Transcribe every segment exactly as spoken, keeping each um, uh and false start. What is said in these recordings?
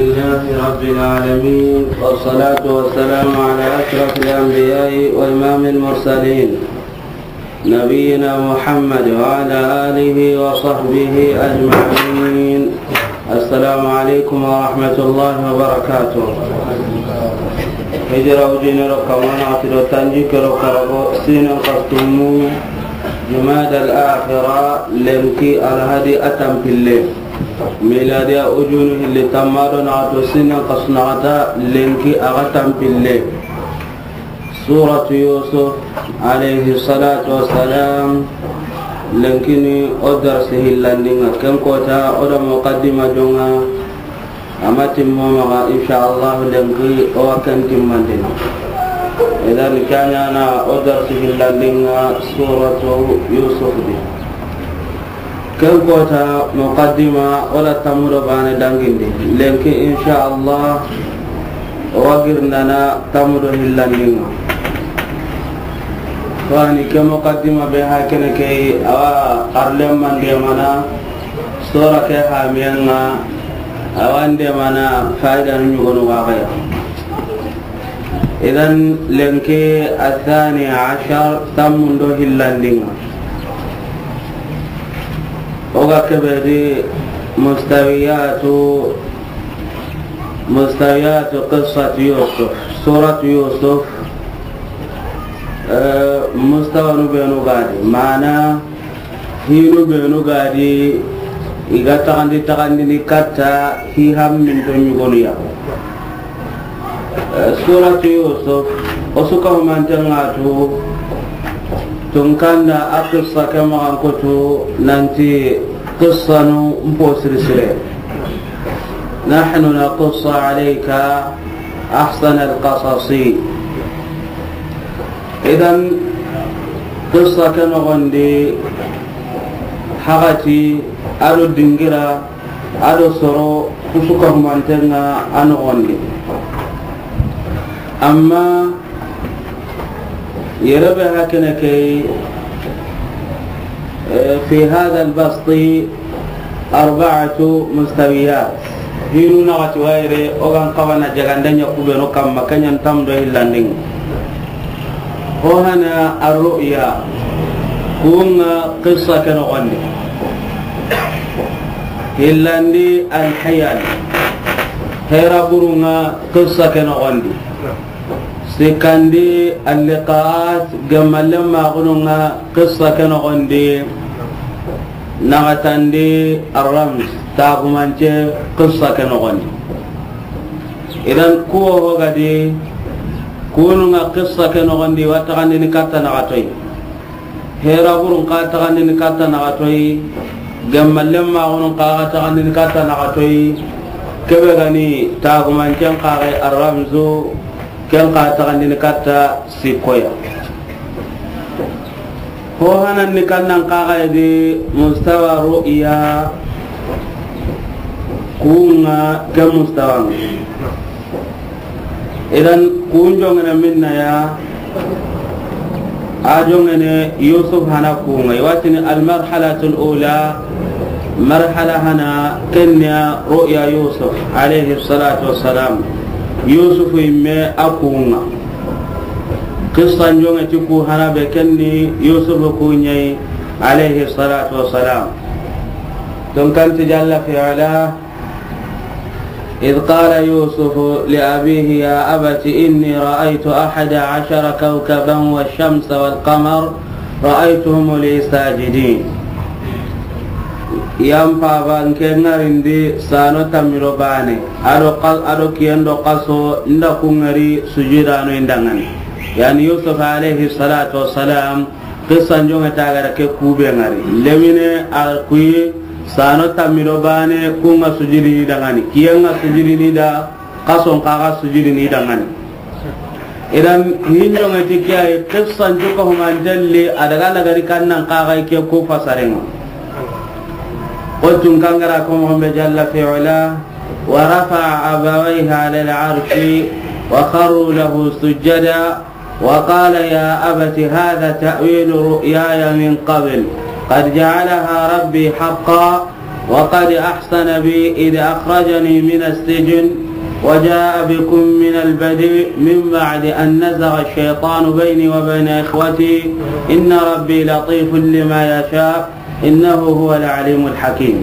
لله رب العالمين، والصلاة والسلام على أشرف الأنبياء وإمام المرسلين، نبينا محمد وعلى آله وصحبه أجمعين. السلام عليكم ورحمة الله وبركاته. Hijira wujine do kamana ati do tanjikke do karabo, sinan kastumu Jumada al-Akhira, lenki alhadi a tanpille. Miladiya wujunu hilli tamma do naxato, sinan kasu naxata, lenki a ga tanpille. Suratu Yusuf alayhi salatu wassalam, lenkini o darsi hillandinga, ken kota o da muqaddima jonga, a ma timmo maxa, insha Allah, lenki o wa ken timmandini. Idan, ke ɲana o darsi hillandinga suratu Yusuf di. Ken kota muqaddima, o da tammu do bane dangindi. Lenki, insha Allah, o wa girindana tammu do hillandinga. Fani ke muqaddima be hakene ke, awa xarlen mande mana, sora ke hamiyenga, awa nde mana faida nu ɲugonu waxaya. Idan, lenki athani ashar, tammu do hillandinga. O ga kebe di mustawiyatu, mustawiyatu qissat Yusuf, surat Yusuf, eh, mustawanu benu gadi, mana hinu benu gadi, i ga taxandi, taxandini katta hi hamminto ɲugonuya. Eh, suratu Yusuf, o su ka humanten ŋa tu, tunkanda a qissa ke maxan kutu nanti qissanu mpo siri sire. Nahnu naqussu alayka ahsana alqasasi. Idan, qissa ke noxondi, haxati, a do dingira, a do soro, ku su ka humanten ŋa a noxondi. Amma yere be hakene ke, eh, fi hada albasti arba'atu mustawiyat. Hinu naxati wayre, o gan kawana jagandanya kubenu kamma, kenyan tam do hillandin. Ho hana arru'ya, kunga qissa ke noxondi. Hillandi alhiyal, hera burunga qissa ke noxondi. Sikkandi alliqaat, gemmallen maxununga qissa ke noxondi. Naxatandi arramz, tagumance qissa ke noxondi. Idan kuwo hogadi, kununga qissa ke noxondi, wa taxandini katta naxatoyi. Hera burun xa taxandini katta naxatoyi, gemmallen maxunun xa taxandini katta naxatoyi, kebe gani tagumancen xaxe arramzu, ken xa taxandini katta sikkoya. Ho hananni kannan xaxayedi mustawa ru'ya, kunga ke mustawanga. Idan kun jongene minna ya, a jongene Yusuf hana kunga. Iwatini almarhalatul ula, marhala hana kenya ru'ya Yusuf alayhi salatu wassalam. Yusuf imme a kunga. Qissan jonge ti ku hana be kenni Yusuf kunyai alayhi salatu wassalam. Don kanti jalla fi ala, إذ قال يوسف لأبيه يا أبت إني رأيت أحد عشر كوكبا والشمس والقمر رأيتهم لي ساجدين. Yan paba nke ngarindi sano tamiro bane, ado qas-, ado kiyendo qaso nda ku ngari sujudano indangani. Yani Yusuf alayhi salatu wassalam, qissan jonge tagara ke kube ngari. Lemine a kuyi sano tamiro bane, kunga sujudini dangani, kiyenga sujudini da, qason kaga sujudini dangani. Idan hinjonge ti kiyaye qissan juka humantelli adaga lagari kannan kaga ke ku fasarenga. Qultum kangara ko mo be jalla fi ula, ورفع أبويه على العرش وخروا له سجدا وقال يا أبت هذا تأويل رؤياي من قبل قد جعلها ربي حقا وقد أحسن بي إذ أخرجني من السجن وجاء بكم من البدو من بعد أن نزغ الشيطان بيني وبين إخوتي إن ربي لطيف لما يشاء إنه هو العليم الحكيم.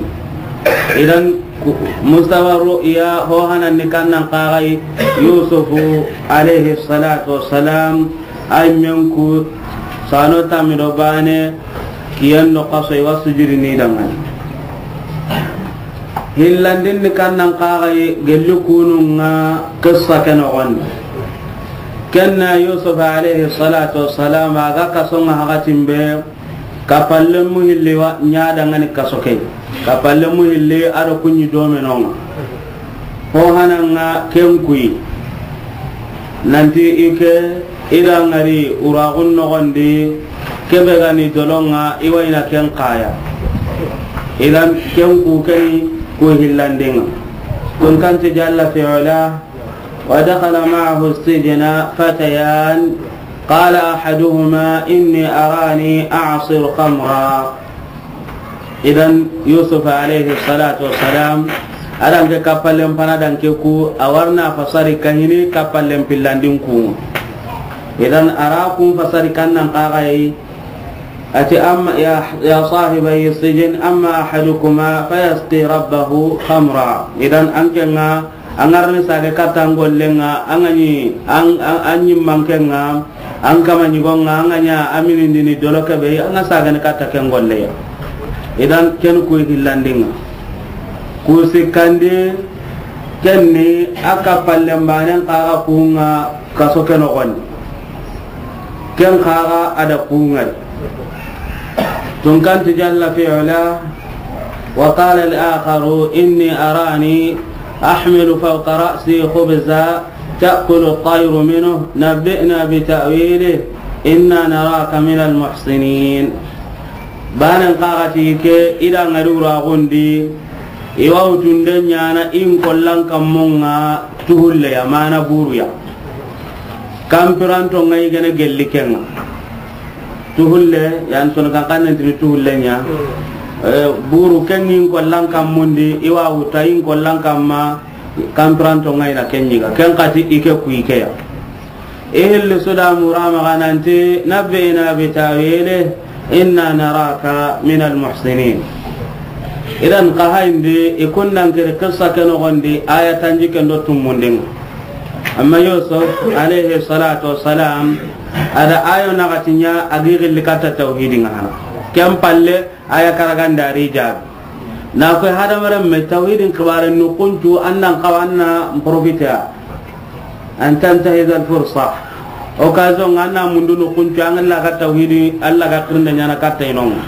Idan, ku-, mustawa ru'ya ho hanan ni kannan kagai Yusufu alayhi salatu wassalam, ay men ku sano tamido bane, kiyen do kaso i wa sujudi ni dangani. Hillandin ni kannan kagai gelli kununga kissa ke nogondi. Kenna Yusuf alayhi salatu wassalam a ga kasonga hakatin be, kapallen mu hilli wa ɲa dangani kaso ke. Kapallen mu hilli a do kunɲi domenonga. Ho hananga ken kuyi. Nanti i ke, i da ŋari uraxun noxondi, kebe gani dolonga, i wayna ken kaya. Idan ken ku keni ku hillandinga. Kun kanti jalla fi ula, ودخل معه السجن فتيان قال أحدهما إني أراني أعصر خمرا. Idan Yusuf alayhi salatu wassalam, adan ke kapallen pana dan ke ku, a warna fasari kahini kapallen pillandin ku. Idan ara kun fasari kannan kagai, ati amma ya, ya sahibai sijin, amma ahadukuma fayasqi rabbahu khamra. Idan an kenga, an ŋarni sage katta an gollenga, an ga ɲi, an, an, an ɲimmankenga, an kama ɲigonga, an ga ɲa a minindini dolo kebe, an ga sagani katta ken golleya. Idan ken ku hillandinga. Ku sikkandi, kenni a kapallen banen kaga kunga kaso ke nogondi. Ken kaga a da kungari. Tun kanti jalla fi ula, وقال الآخر إني أراني أحمل فوق رأسي خبزا تأكل الطير منه نبئنا بتأويله إنا نراك من المحسنين. Banen kaga ti ke i da ŋari uraxundi, i wa wutunde ɲana in kollan kammonga tuhulle ya mana buruya. Kampiranto ŋa i gene gelli kenga. Tuhulle, yan sono kan kannen tini tuhulle ɲa. Eh, buru kengin kollan kammundi, i wa wuta in kollan kamma, kampiranto ŋa i na ken ɲiga. Ken kati i ke ku i ke ya. I hilli suda murama gananti, نبئنا بتأويله إنا نراك من المحسنين. Idan kahayindi, i kundan kiri kissa ke nogondi, aya tanji kendo tummundinga. Amma Yusuf alayhi salatu wassalam, a da ayo naxati ɲa a gi gilli katta tawhidinga hana. Ken palle aya karaganda ri jabi. Na koy hadamaren me tawhidin kibare nukuncu annan kawanna profiter. An tantahiza al fursa. Occasion anna mundu nukuncu an la ga tawhidi, Allah ga kirnde ɲana katta inonga.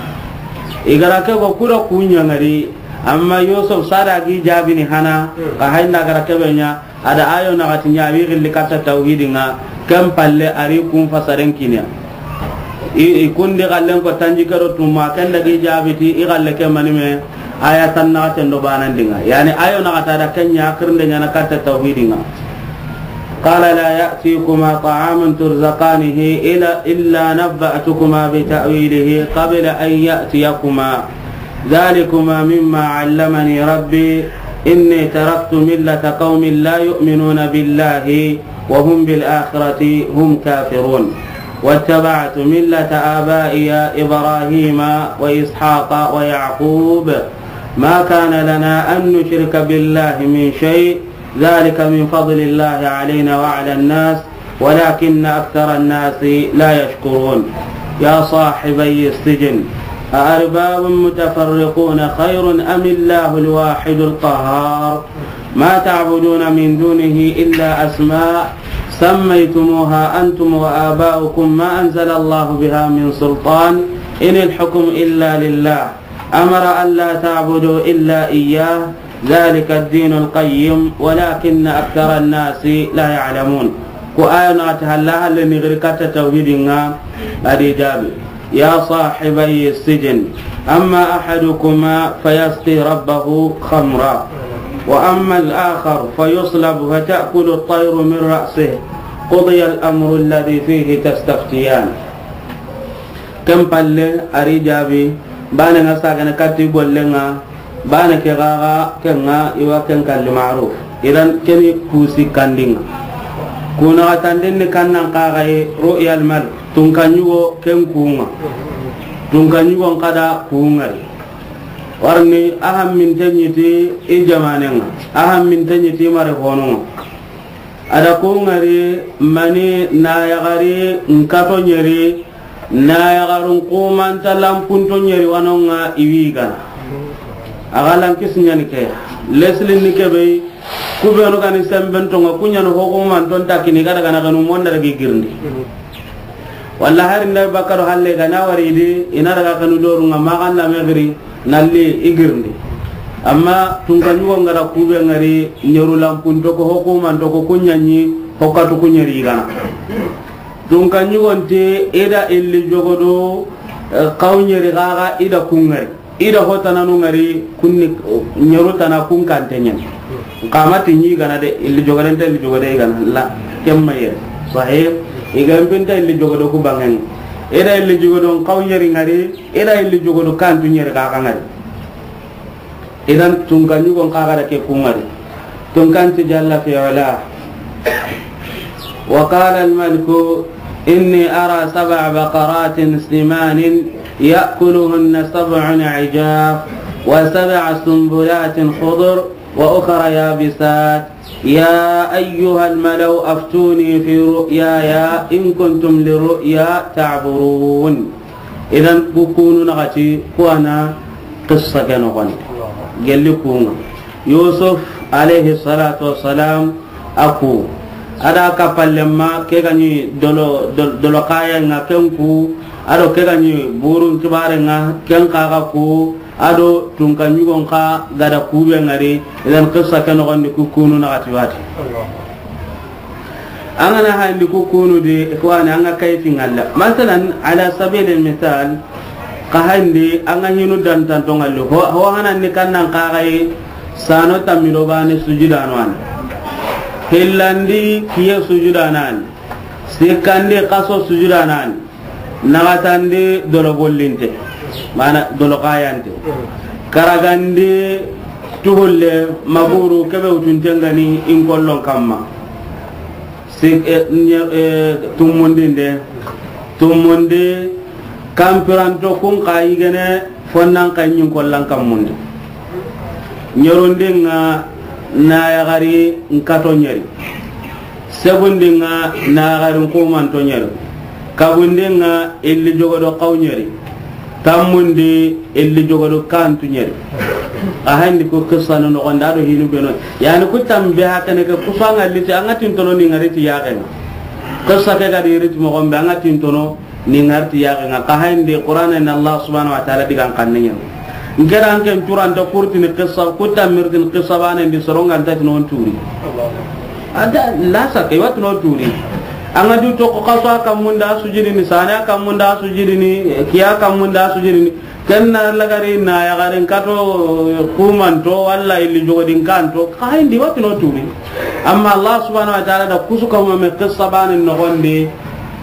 I gara ke go kura kuɲa ngari, amma Yusuf sada gi jabini hana, ka hayna gara kebe ɲa, a da ayo naxati ɲa, a wi gilli katta tawhidinga, ken palle a ri kun fasaren kiniya. I, i kundi gallen ko tanji kero tuma, ken da gi jabiti, i galle ke manime, aya tan naxaten do banandinga. Yani ayo naxata da ken ɲa, kirnde ɲana katta tawhidinga. قال لا يأتيكما طعام ترزقانه إلا، إلا نبأتكما بتأويله قبل أن يأتيكما. ذلكما مما علمني ربي إني تركت ملة قوم لا يؤمنون بالله وهم بالآخرة هم كافرون. واتبعت ملة آبائي إبراهيم وإسحاق ويعقوب. ما كان لنا أن نشرك بالله من شيء. ذلك من فضل الله علينا وعلى الناس ولكن أكثر الناس لا يشكرون. يا صاحبي السجن أأرباب متفرقون خير أم الله الواحد القهار. ما تعبدون من دونه إلا أسماء سميتموها أنتم وآباؤكم ما أنزل الله بها من سلطان إن الحكم إلا لله أمر ألا تعبدوا إلا إياه ذلك الدين القيم ولكن أكثر الناس لا يعلمون. Ku aya naxati halla halle ni giri katta tawhidinga, a di jabi. يا صاحبي السجن أما أحدكما فيسقي ربه خمرا وأما الآخر فيصلب فتأكل الطير من رأسه قضي الأمر الذي فيه تستفتيان. Ken palle a ri jabi, bane nga sagana katti gollenga, Bana ke gaga ke ŋa i wa ken kalli maruf. Idan ke ni kusi kandinga. Kuna gatandin ni kannan kaga yi ru'yal mal. Tunka ɲugo ken kunga. Tunka ɲugon kada kungari. Warni ahan min tenyiti i jamanenga. Ahan min tenyiti mare honunga. A da ko ŋari mani na yagari nkato ɲeri, na yagarun kumanta lampunto ɲeri wanonga i wi gana. A ga lan kisi ɲani ke. Lesli ni ke be, ku benu gani sembentonga, ku ɲani hokumanton takini, ga daga na ganu monda dagi girindi. Walla hari nda bakaro halle ga na wari di, i na daga kanu dorunga, ma ga na me giri, nalli i girindi. Amma tunka ɲugo ngara kube ngari, ɲeru lampunto ko, hokumanto ko, ku ɲaɲi, hokatu ku ɲeri gana. Tunka ɲugonti, i da illi jogodo, eh, kaw ɲeri gaga, i da kungari. I da hotananu ngari kunni ɲeru tana kun kante ɲen. Kama ti ɲi gana de, illi jogade nta illi jogade i gana. La, kemma yere. Sahih. I ga mpinta illi jogade ku bangen. I da illi jogade on kaw ɲeri ngari, i da illi jogade kantu ɲeri kaka ngari. Idan tunka ɲugon kaga da ke ku ngari. Tunkanti jalla fi ala. وقال الملك إني أرى سبع بقرات سمان يأكلهن سبع عجاف وسبع سنبلات خضر وأخر يابسات يا أيها الملأ أفتوني في رؤياي إن كنتم للرؤيا تعبرون. Idan ku kunu naxati ku ana qissa ke noxoni. Gelli kunga. Yusuf alayhi salatu wassalam a ku. A da kappalemma ke gani dolo, dol-, dolo kayenga ken ku. A do ke gani burun kibarenga ken kaga ku. A do tunka ɲugon ka gada kube ngari. Idan qissa ke noxondi ku kunu naxati wati. An ga na hayindi ku kunu di, ikhwani, an ga kayfi ngalla. Masalan, ala sabilil misal, ka hayindi an ga hinu dantanto ngalli. Ho, ho hanan ni kannan kaga yi sano tammi do bane sujudano an. Hillandi kiye sujudano an. Sikkandi kaso sujudano an. Naxatandi dolo gollinte, mana dolo kayante. Karagandi tuhulle maguru kebe wutuntengani in kollon kamma. Sik-, eh, nye-, eh, tummundinde, tummundi kampiranto kun ka yigene fonnan ka ɲin kollan kammundi. Ɲerundinga na yagari nkato ɲeri. Segundinga na yagari nkumanto ɲeri. Kabundinga illi jogodo kaw ɲeri. Tammundi illi jogodo kantu ɲeri. A hayindi ku qissa no noxonda do hinu beno. Yani ku tambe hakene ke kusanga liti anga tintono ni ngari ti yaxenga. Qissa ke gadi riti moxombe anga tintono ni ngarti yaxenga. Ka hayindi Qur'ana ni Allah subhanahu wa ta'ala digan kanne ɲen. Nkera anken curanta kurtini qissa, kutta mirtini qissa bane ndi soronga nta tino on turi. Ada la saka iwa tino turi. Anga du to ko kaso kamunda sujidini, sana kamunda sujidini, kiya kamunda sujidini. Kenna lagari na yagarin kato kumanto walla illi jogodin kanto, ka hayindi wa tino turi. Amma Allah subhanahu wa ta'ala da kusu ka huma me qissa bane noxondi.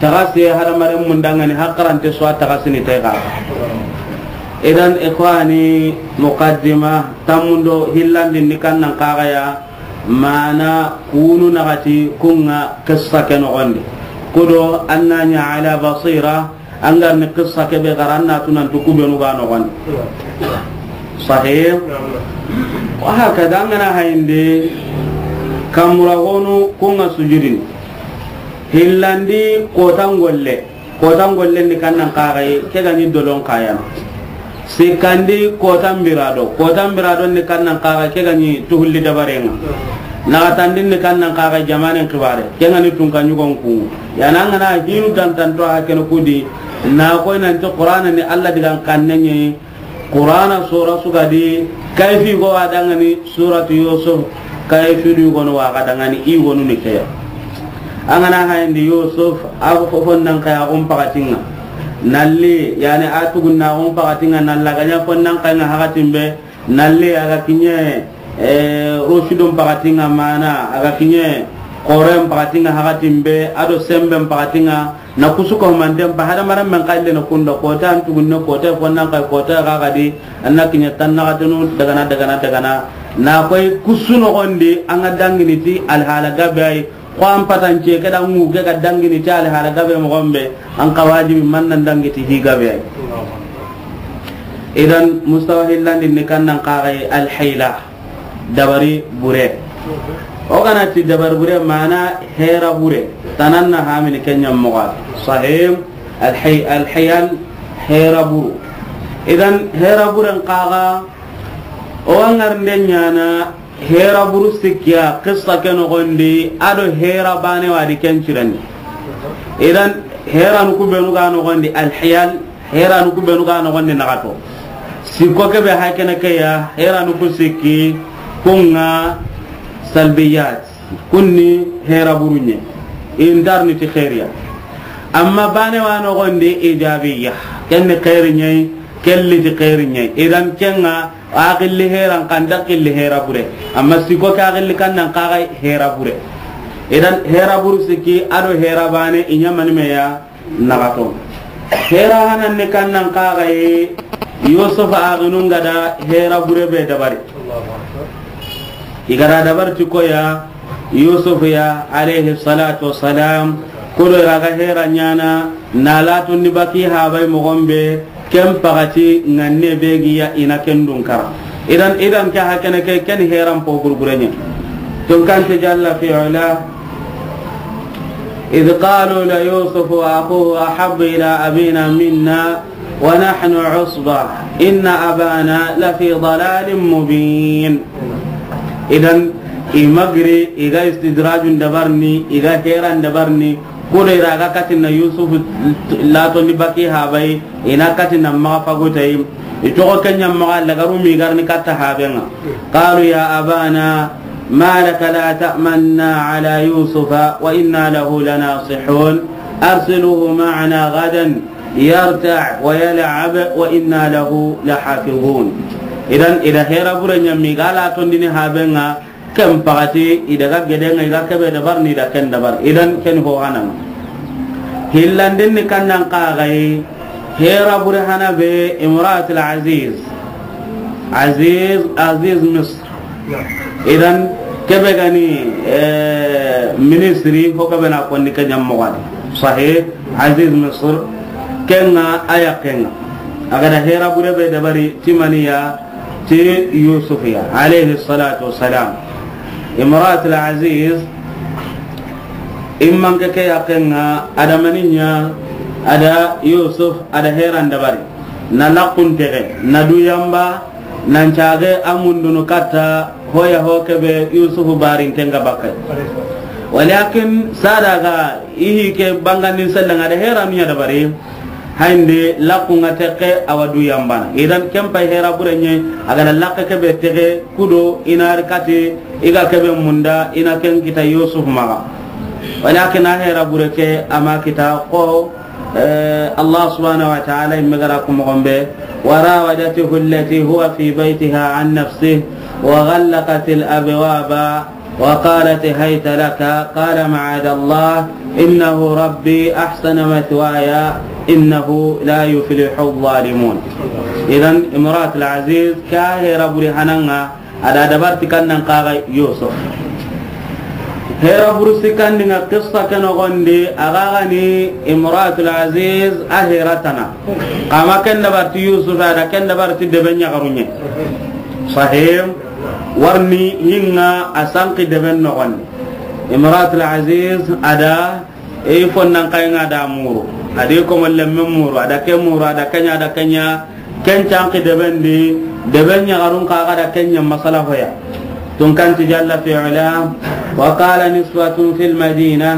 Taga se hadamaren mundangani hakarante so a taga sini tega. Idan ikhwani, muqaddima tammundo hillandi ni kannan kagaya mana kunu naxati kunga qissa ke noxondi. Kudo annanya ala basira, angar ni qissa ke be garanna tunan tukubenu ga noxondi. Sahih. Wa hakada an ga na hayindi kamura honu kunga sujudini. Hillandi kotan golle. Kotan gollen ni kannan kaxay ke gani dolon kayana. Sikkandi kotan birado. Kotan birado ni kannan kaxay ke gani tuhulli dabarenga. Naxatandin ni kannan kaxay jamanen xibare. Ke gani tunka ɲugon ku. Yana an ga na hinu dantanto ha kene kudi. Na koy nanti Qur'ana ni Allah digan kannenye. Qur'ana sura su ga di, kayfi go wa dangani suratu Yusuf, kayfi du go no wa ga dangani i go nu ni ke ya. An ga na hayindi Yusuf, a go fo fonnan kay a gon pakatinga. Nalli, yani a tugunna a gon pakatinga, nalla ganya fonnan kay nga hakatimbe, nalli a ga kinye, eh, rosidon pakatinga mana, a ga kinye, koren pakatinga hakatimbe, ado semben pakatinga, Na kusu ko manten pa hadamaren men kalle na kunda kota an tugunne kota fonnan kay kota ga gadi an na kiɲa tan na gatunu dagana dagana dagana. Na koy kusu noxondi an ga dangini ti alhala gabe ay. Ko an patance ke da ŋu ke ga dangini ti alhala gabe moxo be, an ka wajibi man nan dangi ti hi gabe ay. Idan mustawa hillandi ni kan nan kaxay alhayla. Dabari bure. O gana ti dabari bure mana hera bure. Tanan na hamini kenya moga. Sahim alhay-, alhayal hera buru. Idan hera buren kaga o wangar ndenyana hera buru sikkiya qissa ke nogondi ado hera bane wadi kencirani. Idan hera nuku benu ga nogondi alhayal Heranu ku benu ga nogondi nagato. Sikko kebe hakene ke ya, heranu ku sikki, kunga salbiyat, kunni hera burunye. Indarni ti khairiya. Amma bane wa nogondi ijabiya. Kenni khairinyai, kelli ti khairinyai. Idan kenga, aqilli heran kanda qilli hera bure. Amma sikko ke aqilli kannan kagai hera bure. Idan hera buru sikki, ado hera bane, inyamani meya, nagato. Hera hanan ni kannan kagaye, Yusuf aginun gada hera bure be dabari. Igada dabar ti koya, Yusuf ya, alayhi salatu wassalam, kudo iraga hera nyana, na latun ni baki habai mogombe, ken pagati nganne begiya ina ken dunkara. Idan, idan ke hakene ke, ken heran po gurgurenya. Tun kan ti jalla fi ula, إذ قالوا ليوسف وأخوه أحب إلى أبينا منا ونحن عصبة إن أبانا لفي ضلال مبين. Idan, i magri, iga istidrajun dabarni, iga heran dabarni, kudo iraga katina Yusuf lato ni baki habai, ina katina maga fagutay. Itogo kenya maga lagaru mi garni katta habenga. قالوا يا أبانا ما لك لا تأمنا على يوسف وإنا له لناصحون أرسله معنا غدا يرتع ويلعب وإنا له لحافظون. Idan, ida hera bure nyami gala tondini habenga, ken pagati, idaga gedenga, iga kebe dabar ni da ken dabar. Idan, ken ho hananga. Hillandin ni kannan kagaye, hera bure hana be imratul aziz. Aziz, Aziz Misr. Idan, kebe gani, eh, ministri, ho kebe na kondi ke nyam mogadi. Sahih, Aziz Misr, kenga aya kenga. Agada hera bure be dabari timaniya, ti Yusuf ya, alayhi salatu wassalam. Imratul Aziz, imman ke ke ya kenga, ada maninya, ada Yusuf, ada heran dabari. Na lakuntege, na duyamba, nan cage amundunu katta, hoya ho kebe Yusuf barin tenga bakai. Walakin sadaga, ihi ke bangandin selanga da heranu ya dabari. Hayndi lakunga tekke awa duyambana. Idan ken pay hera burenye, agada lakke kebe tege kudo inari kati iga kebe munda ina ken kita Yusuf maga. Walakin a hera bure ke ama kita ko, eh, Allah subhanahu wa ta'ala imme gara ku mogombe, وراودته التي هو في بيتها عن نفسه وغلقت الأبواب وقالت هيت لك قال معاذ الله إنه ربي أحسن مثواي إنه لا يفلح الظالمون. Idan imratul aziz ka hera buri hananga ada dabar ti kannan kaga Yusuf. Hera buru sikandinga qissa ke nogondi, aga gani imratul aziz a hera tana. Kama ken dabar ti Yusuf ada ken dabar ti deben yagarunye. Sahim, warni hinga a sanki deben nogondi. Imratul aziz ada e fonnan kayinga da muru. Adi ko molle men muru, ada ke muru, ada kenya, ada kenya. Ken canki deben di, deben yagarun kaga da kenya masala hoya. Tun kanti jalla fi ula, وقال نسوة في المدينة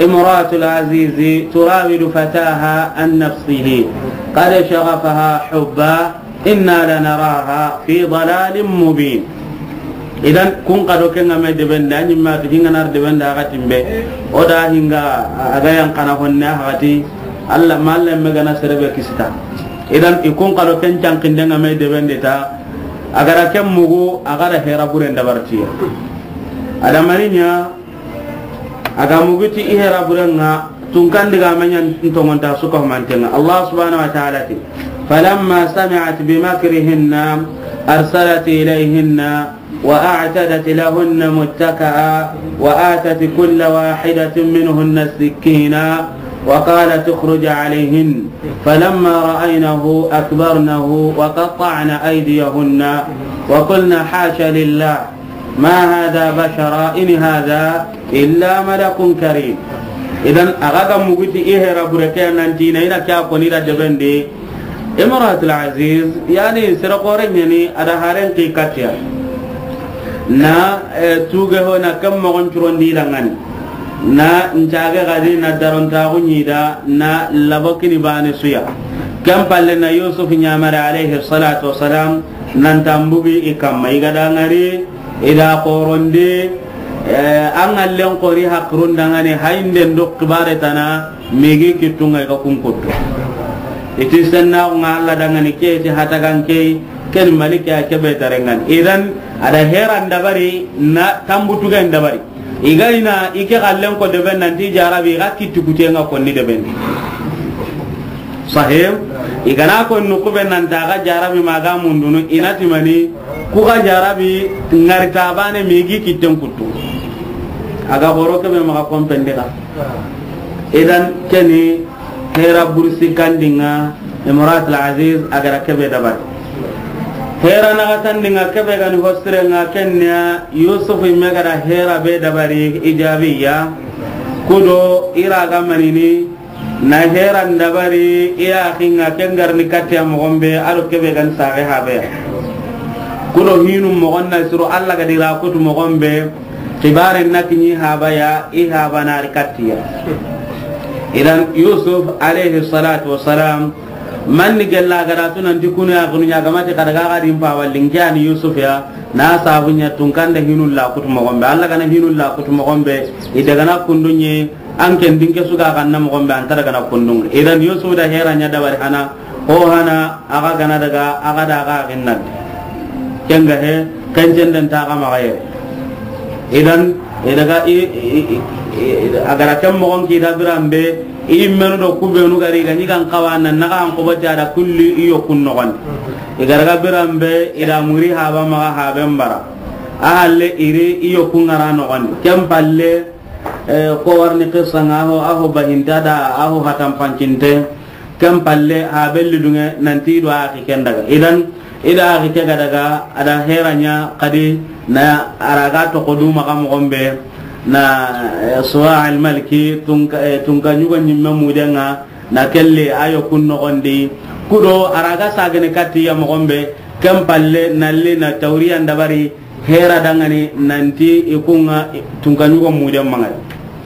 امرأة العزيز تراود فتاها عن نفسه قد شغفها حبا إنا لنراها في ضلال مبين. Idan kun kado kenga me deben da, anyi ma ti hinga nar deben da, aga timbe. O da hinga, aga yan kana honne, aga ti, Allah, ma Allah me gana serebe kisita. Idan i kun kado ken cankindenga me deben de ta, agara ken mugu, agara hera buren dabartiya. Adamaninya, aga muguti i hera burenga, Tunkan digaamen ɲa n tonŋonta su ka humanten ŋa. Allah subhanahu wa ta'ala ti, فلما سمعت بمكرهن أرسلت إليهن وأعتدت لهن متكأ وآتت كل واحدة منهن سكينا وقالت اخرج عليهن فلما رأينه أكبرنه وقطعن أيديهن وقلن حاش لله ما هذا بشرا إن هذا إلا ملك كريم. Idan, a ga ga mugu ti i hera bure ke nan ti na i na ke a koni da deben di. Imratul Aziz, yani, sere xoore ɲa ni, a da haren ki katiya. Na, eh, tuge ho na kam mogon curon di da ŋa ni. Na n cage gadi na darontaxu ɲi da na labokini bane su ya. Ken palle na Yusuf ɲamare alayhi salatu wasalam nan tambugi i kamma i ga da ŋari. I da xorondi, eh, an ŋallen xori haqirun da ŋa ni hayinden do xibare tana migi kittunŋa i ga kun kuttu. I ti sennaxu ŋa Allah da ŋa ni ke ti hatagan ke, ken malike a kebe tare ŋa ni. Idan, a da heran dabari na tambutugen dabari. I ga i na i ke xallen ko deben nan ti jarabi i ga kitti kuten ŋa konni deben. Sahih. I ga na ko nu kube nan ta ga jarabi ma ga mundunu i na ti mani ku ga jarabi ŋari ta bane migi kitten kuttu. A ga xoro kebe maxa kompen di xa. Idan keni hera bursi kandinŋa Imratul Aziz a ga da kebe dabari. Hera naxatandinŋa kebe ga ni hosire ŋa kenniya Yusuf i me ga da hera be dabari ijabiya. Kudo i ra ga manini na heran dabari i ya xinŋa ken garni katiya mogon be a do kebe ga ni saxe habe ya. Kudo hinu mogon na siro Allah ga di ra kutu mogon be. Xibaren na kiɲi haba ya, i haba na ri katiya. Idan Yusuf alayhi salatu wasalam, manni gella ga da tu nan ti kunu ya kunu ɲa ga ma ti xa da ga ga di n pa wallin ke a ni Yusuf ya, na sabu ɲa tunkande hinu la kutu mogon be. Allah ga na hinu la kutu mogon be, i daga na kundunɲe, an ken dinke su ga ga na mogon be, an ta daga na kundun. Idan Yusuf da hera ɲa dabari hana, Ko hana a ga gana daga a ga da a ga ginna. Ken ga he, ken cenden ta ga maxa yere. Idan, i daga i, i, i, i, a ga ra ken mogon ki da biran be, i menu do ku benu ga ri ga ɲi gan xawa nan na ga an ko bati a da kulli i yo kun noxon. I ga ra ga biran be, i da muri haba maxa haben bara. A halle i ri i yo kun ŋara noxon. Ken palle, eh, ko warni qissa ŋa ho, a ho bahinta da, a ho hatan pancinte. Ken palle, ha belli dunŋe, nanti i do a axi ken daga. Idan, i da axi ke ga daga, a da hera ɲa, xadi, na a ra ga toxo du maxa mogon be, na, eh, Suwa al-Malki, tunka, eh, tunka ɲugo ɲimme mudenŋa, na kelle, a yo kun noxon di. Kudo, a ra ga sagene katti ya mogon be, ken palle, nalli, na tawriyan dabari, Hera dangani nanti i kunŋa tunka ɲugo muden maŋa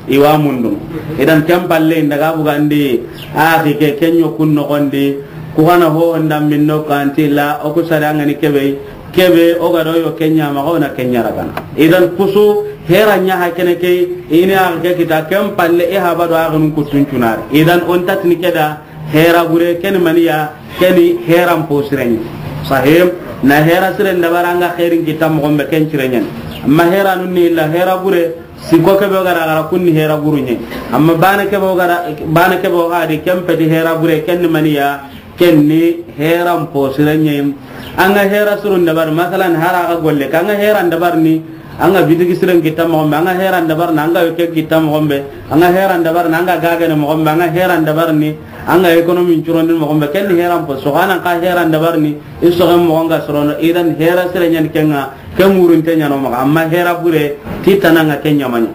i wa mundu. Idan ken palle i daga bugandi axi ke ken ɲo kun noxondi ku xana ho ndambin no kanti la o ku sare angani kebe kebe o ga do yo ken ɲa maxa o na ken ɲa ragana. Idan kusu hera ɲa ha kene ke i ni axi ke kita ken palle i haba do axinun kuttun cunari. Idan o ntatini ke da Hera bure, ken ni maniya, ken ni heran po sirenye. Sahim, na hera siren dabari anga herin kita moxon be ken sirenye. Amma hera nun ni illa hera bure, siko kebe o gara gara kun ni hera burunye. Amma bana kebe o gara, bana kebe o gadi ken peti hera bure, ken ni maniya, ken ni heran po sirenye. Anga hera surun dabari, masalan, hara ga golle, kanga heran dabari ni, Anga bitigi siren kita moxon be, anga heran dabarna, anga yoke kita moxon be, anga heran dabarna, anga gagene moxon be, anga heran dabarni, anga économie curondi moxon be, ken ni heran po, soxanan ka heran dabarni, i soxen moxon ga sorono, idan hera sire ɲani kenga, ken ŋurinte ɲano maxa, amma hera bure, ti tananga ken ɲamaɲa.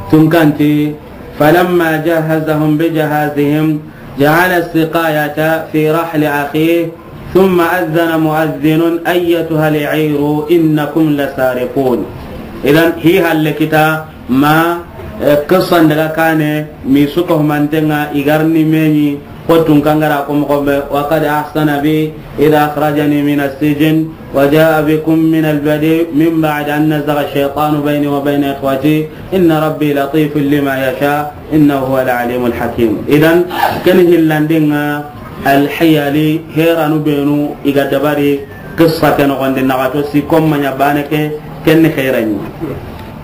Tunkanti, فلما جهزهم بجهازهم جعل السقاية في رحل أخيه ثم أذن مؤذن أيتها العير إنكم لسارقون. Idan, hi halle kita ma, eh, qissan daga kane, mi suka humantenga, igarni meɲi, ko tun kangara ko moxo be, وقد أحسن بي إذ أخرجني من السجن وجاء بكم من البدو من بعد أن نزغ الشيطان بيني وبين إخوتي إن ربي لطيف لما يشاء إنه هو العليم الحكيم. Idan, ken hillandinga, Alhiyali, heranu benu, i ga dabari, qissa ke noxondi, naxato si, komma ɲa bane ke, ken ni herani.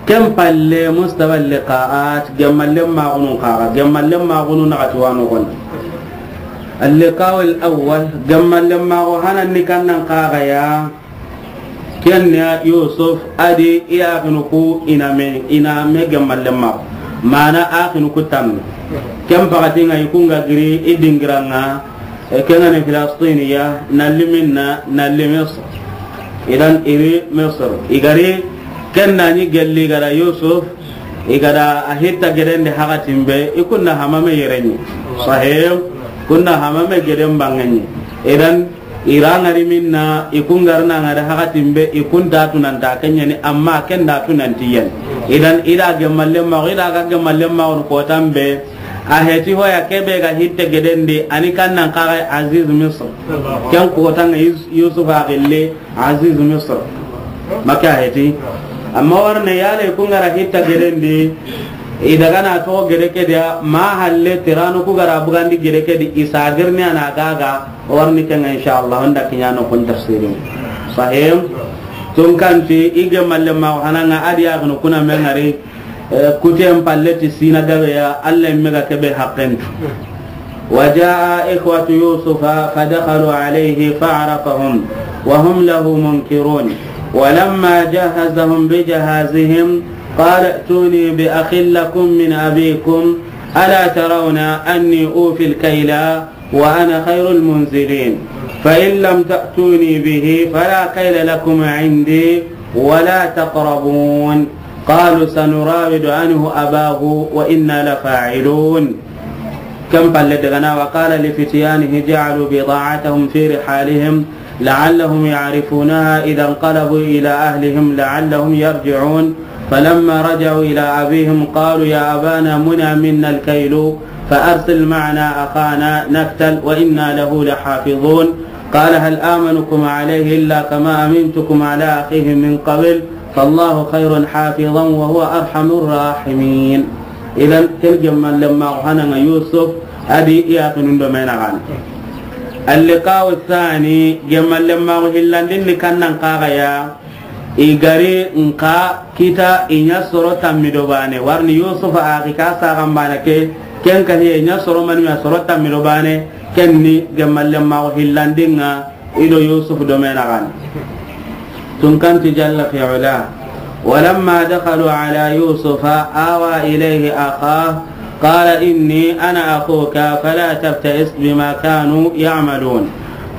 Ken palle, mustawa liqaat, gemmallen maxunun xaxa, gemmallen maxunu naxati wano gon. Al-liqa'u al-awwal, gemmallen maxu hanan ni kannan xaxa ya. Ken ya Yusuf adi i axinu ku i na me, i na me gemmallen maxu. Mana axinu ku tamme. Ken paxati nga i ku nga giri i dingiran ŋa, e, ken ga ni Filastiniya, na li minna, na li Misr. Idan i ri Misr. I ga ri ken na ni gelli ga da Yusuf, i ga da a hitta geden di haxatin be, i kun na hamame yere ɲi. Sahih, kun na hamame geden banŋe ɲi. Idan i ra nga ri minna, i kun ga ri na nga da haxatin be, i kun ta tunanta ken ɲa ni, amma ken da tunanti yen. Idan i da gemmallen maxu, i da ga gemmallen maxu kotan be, a heti hoya ke be ga hitte geden di, a ni kannan xaxa Aziz Misr. Ken kotan ŋa Yus-, Yusuf a gille Aziz Misr. Maka heti. Amma warne yale kun ga ra hitta geden di, i daga na to gede ke dia, ma halle tiranu ku ga ra bugandi gede ke di, i sagirni a na gaga, warni ken ŋa inshallah, onda kiɲano kun tafsirin. Sahih. Tun kanti i gemmallen maxu hanan ŋa adi axinu ku na me ngari, Eh, kuten palle ti sina gabe ya, Alla yimme ga kebe haqqen. وجاء إخوة يوسف فدخلوا عليه فعرفهم وهم له منكرون. ولما جهزهم بجهازهم قال ائتوني بأخ لكم من أبيكم ألا ترون أني أوفي الكيل وأنا خير المنزلين. فإن لم تأتوني به فلا كيل لكم عندي ولا تقربون. قالوا سنراود عنه أباه وإنا لفاعلون. Ken palle daga na, وقال لفتيانه اجعلوا بضاعتهم في رحالهم لعلهم يعرفونها إذا انقلبوا إلى أهلهم لعلهم يرجعون. فلما رجعوا إلى أبيهم قالوا يا أبانا منع منا الكيل فأرسل معنا أخانا نكتل وإنا له لحافظون. قال هل آمنكم عليه إلا كما أمنتكم على أخيه من قبل فالله خير حافظا وهو أرحم الراحمين. Idan, ken gemmallen maxu hanan ŋa Yusuf adi i axinun do me naxan. اللقاء الثاني, gemmallen maxu hillandin ni kannan xaxa ya. I ga ri nxa kita i ɲa soro tammi do bane. Warni Yusuf axi ka saxan bana ke, ken ka hiye ɲa soro mani ma soro tammi do bane, ken ni gemmallen maxu hillandin ŋa i do Yusuf do me naxan. Tun kanti jalla fi ula. ولما دخلوا على يوسف آوى إليه أخاه قال إني أنا أخوك فلا تبتئس بما كانوا يعملون.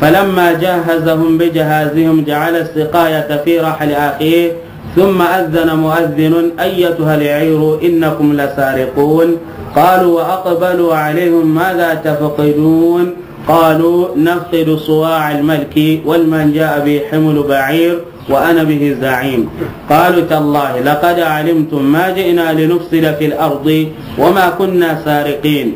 فلما جهزهم بجهازهم جعل السقاية في رحل أخيه ثم أذن مؤذن أيتها العير إنكم لسارقون. قالوا وأقبلوا عليهم ماذا تفقدون؟ قالوا نفقد صواع الملك ولمن جاء به حمل بعير وأنا به زعيم. قالوا تالله لقد علمتم ما جئنا لنفسد في الأرض وما كنا سارقين.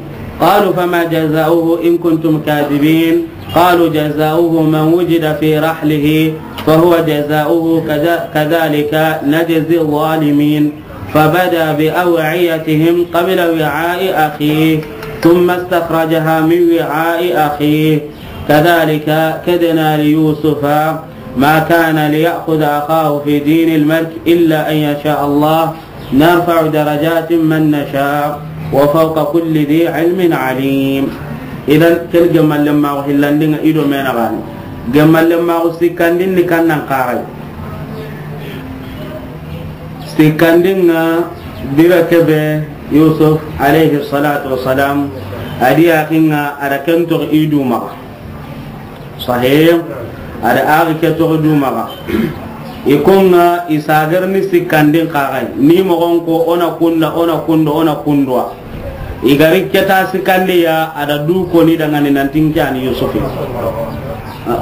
قالوا فما جزاؤه إن كنتم كاذبين. قالوا جزاؤه من وجد في رحله فهو جزاؤه كذ-، كذلك نجزي الظالمين. فبدا بأوعيتهم قبل وعاء أخيه ثم استخرجها من وعاء أخيه كذلك كدنا ليوسف ما كان ليأخذ أخاه في دين الملك إلا أن يشاء الله نرفع درجات من نشاء وفوق كل ذي علم عليم. Idan, ken gemmallen maxu hillandin ŋa i do me naxan. Gemmallen maxu sikkandin ni kannan xaxa ya. Sikkandin ŋa bire ke be Yusuf alayhi salatu wassalam, a di axin ŋa a da ken toxo i du maxa. Sahih. A da axi ke toxo du maxa. I ko ŋa i sagar ni sikkandin xaxa ya. Ni moxon ko o na kunda, o na kunda, o na kundwa. I ga ri ke ta sikkandi ya, a da du ko ni dangani nanti n ke a ni Yusuf.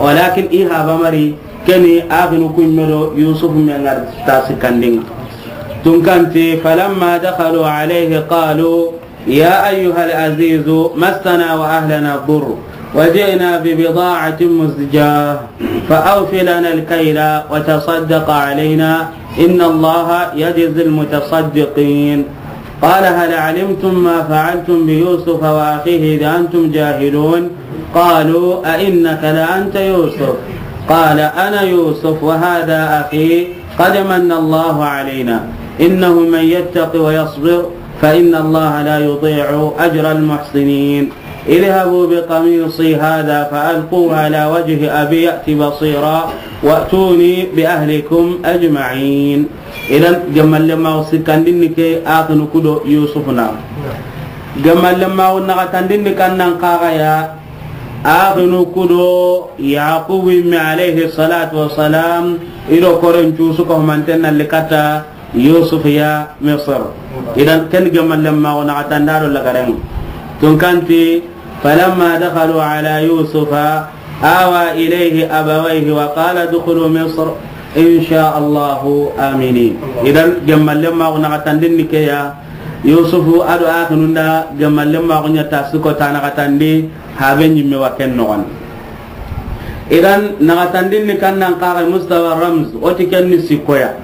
Walakin i haba mari, ken ni axinu ku yimme do Yusuf me ŋa ri ta sikkandin ŋa. Tun kanti, فلما دخلوا عليه قالوا يا أيها العزيز مسنا وأهلنا الضر وجئنا ببضاعة مزجاة فأوف لنا الكيل وتصدق علينا إن الله يجزي المتصدقين. قال هل علمتم ما فعلتم بيوسف وأخيه إذ أنتم جاهلون؟ قالوا أئنك لأنت يوسف؟ قال أنا يوسف وهذا أخي قد من الله علينا إنه من يتق ويصبر فإن الله لا يضيع أجر المحسنين. اذهبوا بقميصي هذا فألقوه على وجه أبي يأت بصيرا وأتوني بأهلكم أجمعين. Idan, gemmalle ma o sikkandin ni ke axinu ku do Yusuf na. Gemmalle ma o naxatandin ni kannan kaxa ya, axinu ku do Yaqubu yimme alayhi salatu wassalam, i do koren cusu ko manten na likata Yusuf ya Misr. Idan ken gemmalle ma o naxatanda do lagaren. Tun kanti, فلما دخلوا على يوسف آوى إليه أبويه وقال ادخلوا مصر إن شاء الله آمنين. Idan gemmalle ma o naxatandin ni ke ya, Yusufu a do axinun da gemmalle ma o ɲa ta siko ta naxatandi, habe ɲimme wa ken noxon. Idan naxatandin ni kannan kaxa mustawa ramz, o ti ken ni sikkoya.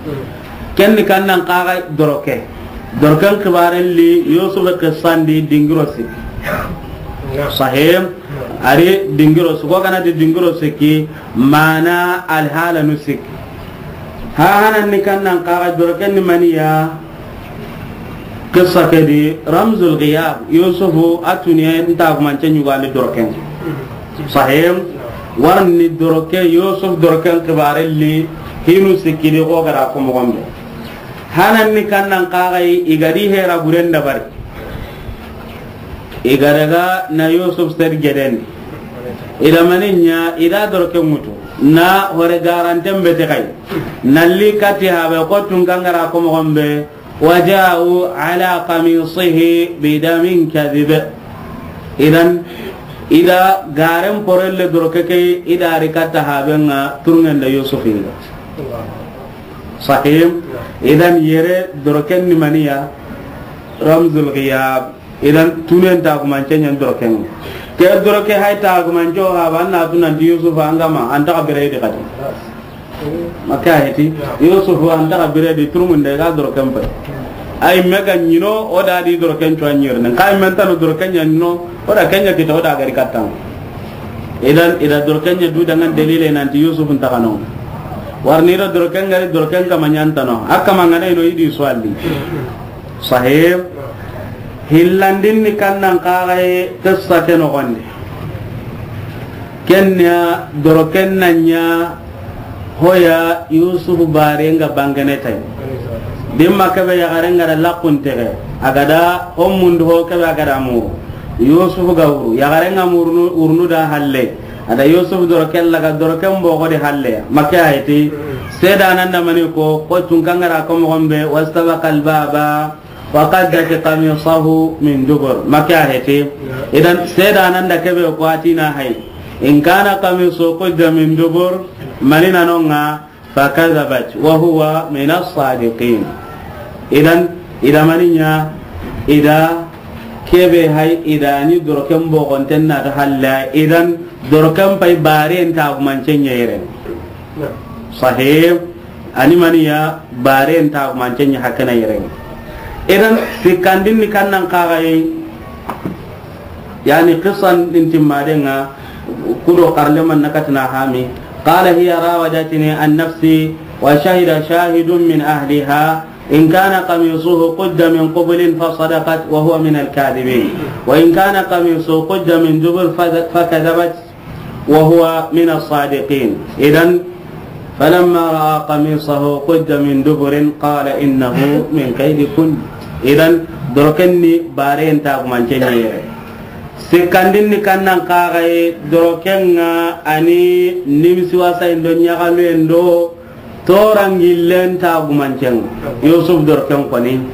Ken ni kannan kaxa doroke. Doroken xibaren li Yusuf qissandi dingiro sikki. Sahih. Ari dingiro sikki, ko gana di dingiro sikki, mana alhalanu sikki. Ha hanan ni kannan kaxa doroken ni maniya. Qissa ke di ramzul ghiyab, Yusufu a tuniye nta kumance ɲugandi doroken. Sahih. Warni doroke, Yusuf doroken xibaren li hinu sikki di ko gara ko moxon be. Hanan ni kannan kaxa i ga di hera buren dabari. I ga daga na Yusuf ser gedeni. I da mani ɲa, i da doroken ŋutu. Na hore garanten be te xay. Na li kati habe ko tun kangara ko moxon be. وجاءوا على قميصه بدم كذب. Idan, i da garen porelle doroke ke, i da ri katta haben ŋa turŋen da Yusuf i ga. Sahih. Idan yere doroken ni maniya ramzul ghiyab. Idan tunen ta kumance ɲan doroken. Ke doroke hay ta kumance o haba na tunan di Yusuf an ga ma, an ta xa bire di kati. Maka heti, Yusuf an ta xa bire di turmun de ga doroken pay. Ay mega ɲino, o da di doroken cuwa ɲirne. Kay men tano doroken ɲa ɲino, o da ken ɲa kita, o da gari kattan. Idan, i da doroken ɲa du dangan dalile nanti Yusuf nta xa no. Warni do doroken gari doroken kama ɲantano. Akka mangana ino idi suwalli. Sahih. Hillandin ni kannan kaxa ye qissa ke noxondi. Ken ya doroken na ɲa hoya Yusuf barenga bangene tay. Dimma kebe yaxarenga da laxun tege. A ga da ho mundu ho kebe a ga da muru. Yusuf ga wuru. Yaxarenga murnu, wurnu da halle. A da Yusuf doroken laga doroken boxo di halle. Makke a heti. Sedanan da mani ko, ko tun kangara ko moxon be, واستبق الباب وقدت قميصه من دبر. Makke a heti. Idan sedanan da kebe ko a ti na hay. إن كان قميصه قد من دبر, mani na no ŋa, فكذبت وهو من الصادقين. Idan, i da mani ɲa, i da kebe hay, i da ni doroken boxonten na ta halla, idan doroken pay baren ta gumance ɲa yere. Sahih. Ani maniya baren ta gumance ɲa hakana yere. Idan sikkandin ni kannan kaxa yi, yani qissan din timmadenga, kudo karleman nakatina hami. قال هي راودتني عن نفسي وشهد شاهد من أهلها إن كان قميصه قد من قبل فصدقت وهو من الكاذبين وإن كان قميصه قد من دبر فذ-، فكذبت وهو من الصادقين. إذن فلما رأى قميصه قد من دبر قال إنه من كيدكن. Idan doroken ni baren ta gumance ɲa yere. Sikkandin ni kannan kaxa yi, doroken ŋa ani nimisi wasa indo ɲaxalu endo torangillen ta gumancen. Yusuf doroken koni.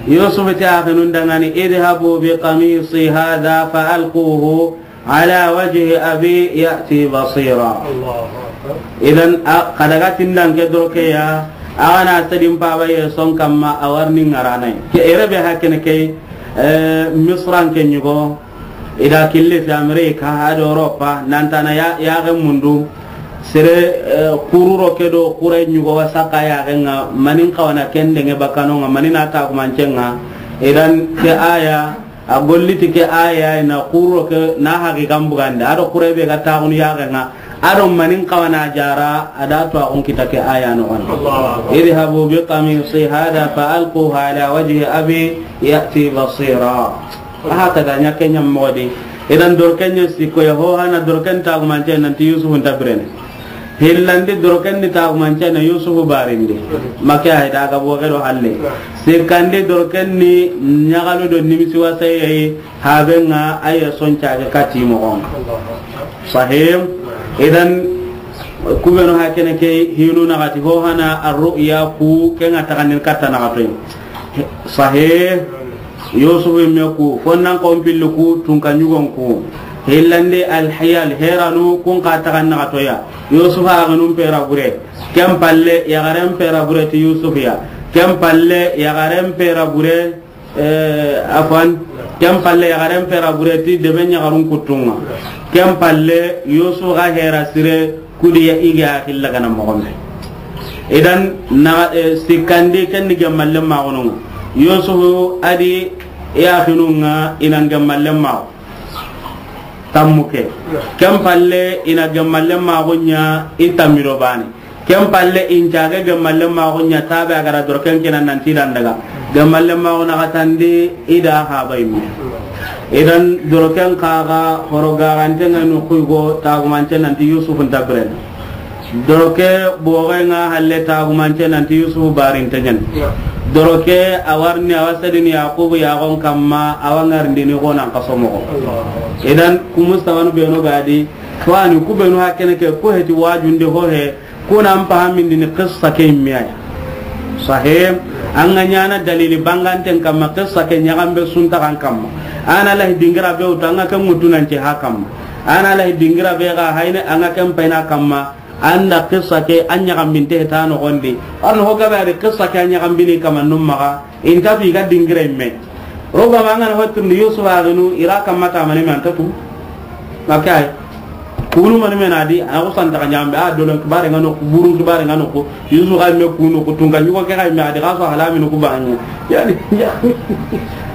Yusuf ti axinun dangani, اذهبوا بقميصي هذا فألقوه على وجه أبي يأت بصيرا. Idan a, xa daga tindan ke doroke ya, a ga na sedin paba ye son kamma a warni ŋaranay. Ke erebe hakene ke, eh, Misran ke ɲugo, i da kille fi Amerika, a do Europa, nantana ya, ya ga mundu, sere, eh, kururo ke do kure ɲugo wasaka ya ga ŋa, manin kawana kendenge bakano ŋa, manina ta kumancen ŋa, idan ke aya, A golliti ke aya na kuro ke na haqiqan bugande. A do kure be ga taxunu yaxe ŋa. A do manin kawana jara, a da to a kun kita ke aya no gon. Allahu akbar. Idhabu bi qamisi hadha fa alquhu ala wajhi abi ya'ti basira. A haka da ɲa ke ɲa modi. Idan doroken ɲa sikko ya ho hana doroken tagumance nanti Yusufu nta birene. Hillandi doroken ni tagumance na Yusufu barindi. Make ay daga boge do halle. Sikkandi doroken ni ɲagalu do nimisi wasaye. Haben ŋa a ya son cage kati moxon ŋa. Sahih. Idan, kubenu hakene ke hinu naxati ho hana arru'ya ku ke ŋa taxandin katta naxatoy. Sahih. Yusufu yimme ku, fonnan kon pilli ku, tunka ɲugon ku. Hillandi alhiyal heranu kun ka taxan naxatoya. Yusufu axinun pera bure. Ken palle yaxaren pera bure ti Yusufu ya. Ken palle yaxaren pera bure. Eh, afwan, ken palle yaxaren pera bure ti debe ɲaxarun kuttunga. Ken palle Yusufu ga hera sire kudi ya ige a xilla gana moxonbe. Idan na, eh, sikkandi ken ni gemmalle maxununga. Yusufu adi yaxinunga ina gemmalle maxu. Tammu ke. Ken palle ina gemmalle maxu ɲa i tammido bani. Ken palle in cage gemmalle maxu ɲa tabe a gara doroken kina nanti dan daga. Gemmalle maxu naxatandi i da haba yimme. Idan doroken kaga horo garante ŋa no kuygo tagumance nanti Yusufu nta birene. Doroke boge ŋa halle tagumance nanti Yusufu barinte ɲen. Doroke a warni a wa sedini Yakubu yaxon kamma a wa ŋarindini xonan kaso moxo. Idan ku mustabanu benu gadi, fani ku benu hakene ke ku heti wajundi ho he, kuna an pahamindini qissa ke yimme ya. Sahih. An ga ɲana dalili banganten kamma qissa ke ɲaxambe suntaxan kamma. Ana lahi dingira be wutu an ga ke ŋutunance ha kamma. Ana lahi dingira be ga hayne an ga ken payna kamma. Anda qissa ke a ɲaxambinte ta noxondi. Arno ho gabe adi qissa ke a ɲaxambini kamannun maxa. Inta fi ga dingira yimme. Rubama an ga na hotundi Yusufu axinu ira kamma tamani me anta tu. Makay. Kunu mani me na di, a na ko santa ka ɲambe, a dolon kibare ŋa no, burun kibare ŋa no ko, Yusufu ga me kunu ko, tunka ɲugo ke ga me, a di ga so halami no ku bani. Yani, yani,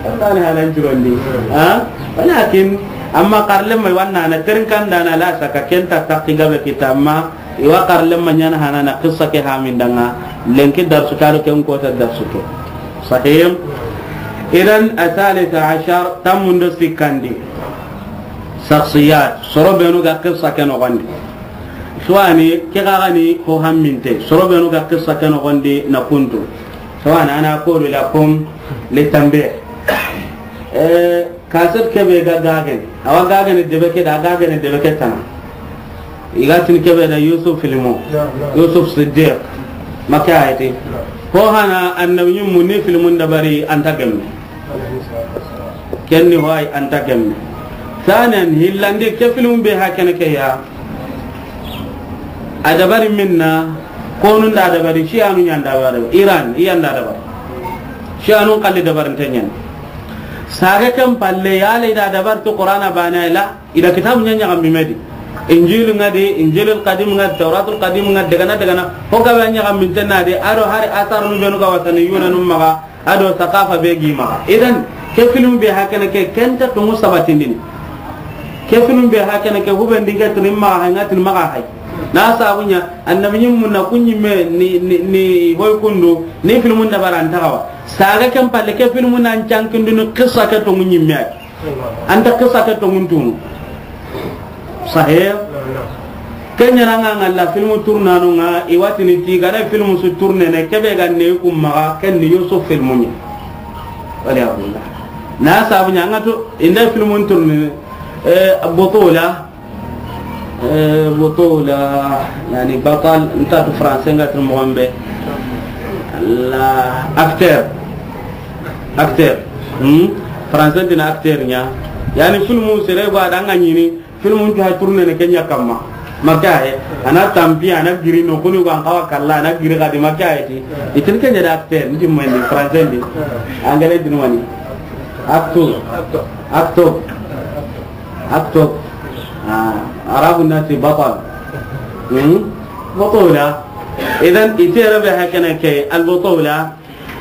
Allah ne halan jirondi. Ha? Walakin, amma karlem mai wanna na terin kan dana la saka kenta takki gabe kita amma, iwa karlem ma ɲana hana na qissa ke hamin danga, lenki darsu karo ken kota darsu ke. Sahih. Idan, athalitha ashar, tammundo sikkandi. Shakhsiyat, soro benu ga qissa ke noxondi. Suwani, ke gagani ho hamminte, soro benu ga qissa ke noxondi na kuntu. Suwani, ana kodu la kum le tambe. Eh, kaset kebe ga gagen. Awa gagen debe ke da gagen debe ke tana. Igatin kebe da Yusuf filmu. Yusuf Siddiq. Maka ayati. Ho hana annabi mun ni filmun dabari anta gemme. Kenni hoy anta gemme. Sanen hillandi ke film be hakene ke ya. A dabari minna, konun da dabari, Shiyanu ɲan dabari, Iran, iyan da dabari. Shiyanu kalli dabarin tenyen. Sage kan palle ya le da dabar to Qur'ana bana ila, ida kitabu ɲan ɲaxambi me di. Injil ŋa di, Injilul Qadim ŋa, Tawratul Qadim ŋa, dagana, dagana. Ho ga ba ɲaxambi tenna di, ado hari asar nu benu ga watani yuna num maga. Ado saqafa be gi maxa. Idan, ke film be hakene ke kenta tungu sabatindini. Ke film be hakene ke huben dinga tini maxa hay, nga tini maxa hay. Na sabu ɲa, annabi ɲim munna kunɲi me ni, ni, ni hoy kundu, ni film nda baran taxawa. Saga ken palle ke film nan cankindini qissa ke tungu ɲimme ay. Anta qissa ke tongun tunu. Sahih. Kenya na nga ngalla film tournano nga iwatini ti gana film su tourné ne kebe ga ne kum maga ken ni Yusuf film ni. Wala abunda. Na sabu ɲa nga to inda film tourné, eh, butula. Eh, butula, yani batal, nta tu français nga tu mo be. La acteur. Acteur. Hmm? Français dina acteur ɲa. Yani film sere ba da nga ɲini, film tu ha tourné ne kenya kamma. Maka he, ana tampi, ana giri no kuni ko an kawa kalla, ana giri kadi maka he ti. Itin kenya da acteur, ndi mo ni français ndi. Anglais din wani. Acteur. Acteur. Acteur. Ah, Arabu nati batal. Hmm? Butula. Idan itere be hakana ke al butula.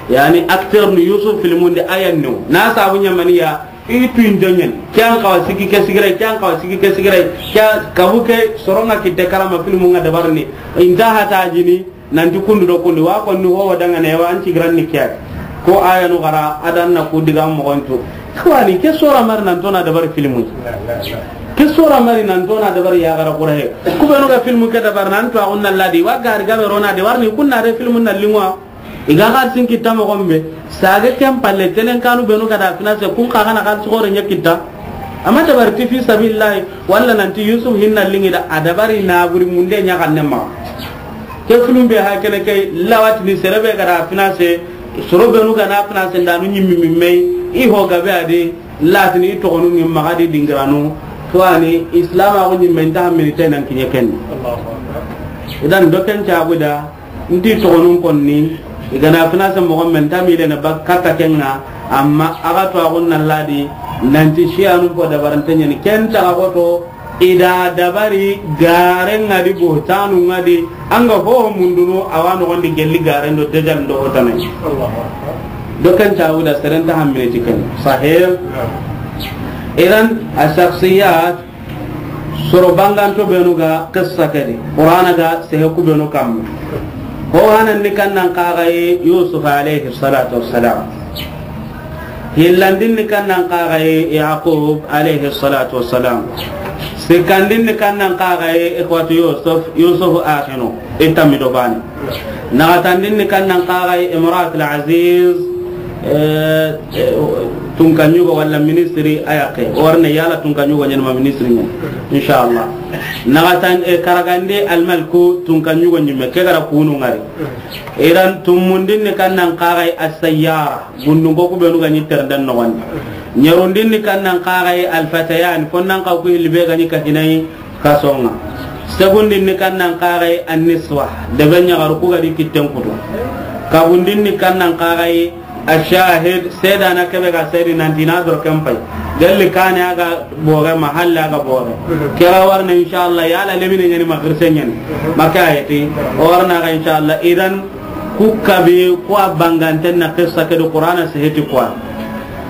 Yani acteur ni Yusuf filmun de ayan no. Na sabu ɲamaniya I tu intonyen. Kyan kawa siki ke sigirai, kyan kawa siki ke sigirai. Kya kabu ke soronga kitte karama filmu nga dabarni. Inta hata jini, nanti kundu do kundi. Wa konni ho wadanga ne wa anti gran ni kya. Ko aya no gara, adan na ku diga mogontu. Kawani, ke sora mari nan tona dabar filmu. Ke sora mari nan tona dabar ya gara kura he. Ku benu ga filmu ke dabar nan to agunna ladi. Wa gari gabe rona de warni kunna de filmu na lingwa. I ga xalisin kitta moxon be, sage ken palle, telen kanu benu ga da finance, kun xa ga na xalisi xoore ɲa kitta. Amma dabari ti fi sabilillahi, walla nanti Yusuf hinna lingi da, a dabari na buri munde ɲa xanne ma. Ke filmu be ha kene ke lawatini sere be ga da finance, soro benu ga na finance ndanu ɲimmi mi me yi, i ho gabe a di, latini i toxonu ni maxa di dingiranu, to ani Islam a ko ɲimmi nta hammini te nan kiɲe ken. Idan do ken cagu da, Nti toxonun konni, i ga na finance moxo men tamile na bak katta kenga, amma a ga to axun na ladi, nanti siyanu ko dabarante ɲani, ken ta ga xoto, i da dabari garen ŋa di, buhtanu ŋa di, an ga ho mundunu, a wa noxon di gelli garen do dajal do hotanai. Do ken ta wuda seren ta hammine ti ken. Sahih. Idan, a shakhsiyat, Soro banganto benu ga qissa ke di, Qur'ana ga sehe ku benu kamma. Ho hanan ni kannan kaxaye Yusuf alayhi salatu wassalam. Hillandin ni kannan kaxaye Yaqub alayhi salatu wassalam. Sikkandin ni kannan kaxaye ikhwatu Yusuf, Yusuf axinu, i tammi do bani. Naxatandin ni kannan kaxaye Imratul Aziz, eh, eh, tunka ɲugo walla ministri a yaqe. O warne yala tunka ɲugo ɲani ma ministri ɲani. Inshallah. Naxatan, eh, karagandi almalku tunka ɲugo ɲimme. Ke gara kunu ŋari. Iran tumundin ni kannan kaxaye As-Sayyara. Gundun ko ku benu ga ɲi ternden noxondi. Ɲerundin ni kannan kaxaye Al-Fatayan. Fonnan kaw ku hilli be ga ɲi kahinayi. Kasonga. Segundin ni kannan kaxaye An-Niswa, debe ɲaxaru ku ga di kitten kutu. Kabundin ni kannan kaxaye Ashahid, sedana kebe ga sedi nanti na doro ken pay. Gelli kane a ga boge, mahalle a ga boge. Kera warne inshallah, yala lemine ɲani ma xirse ɲani. Maka ayeti, o warna ga inshallah. Idan ku kabi ku a banganten na qissa ke do Qur'ana seheti ku a.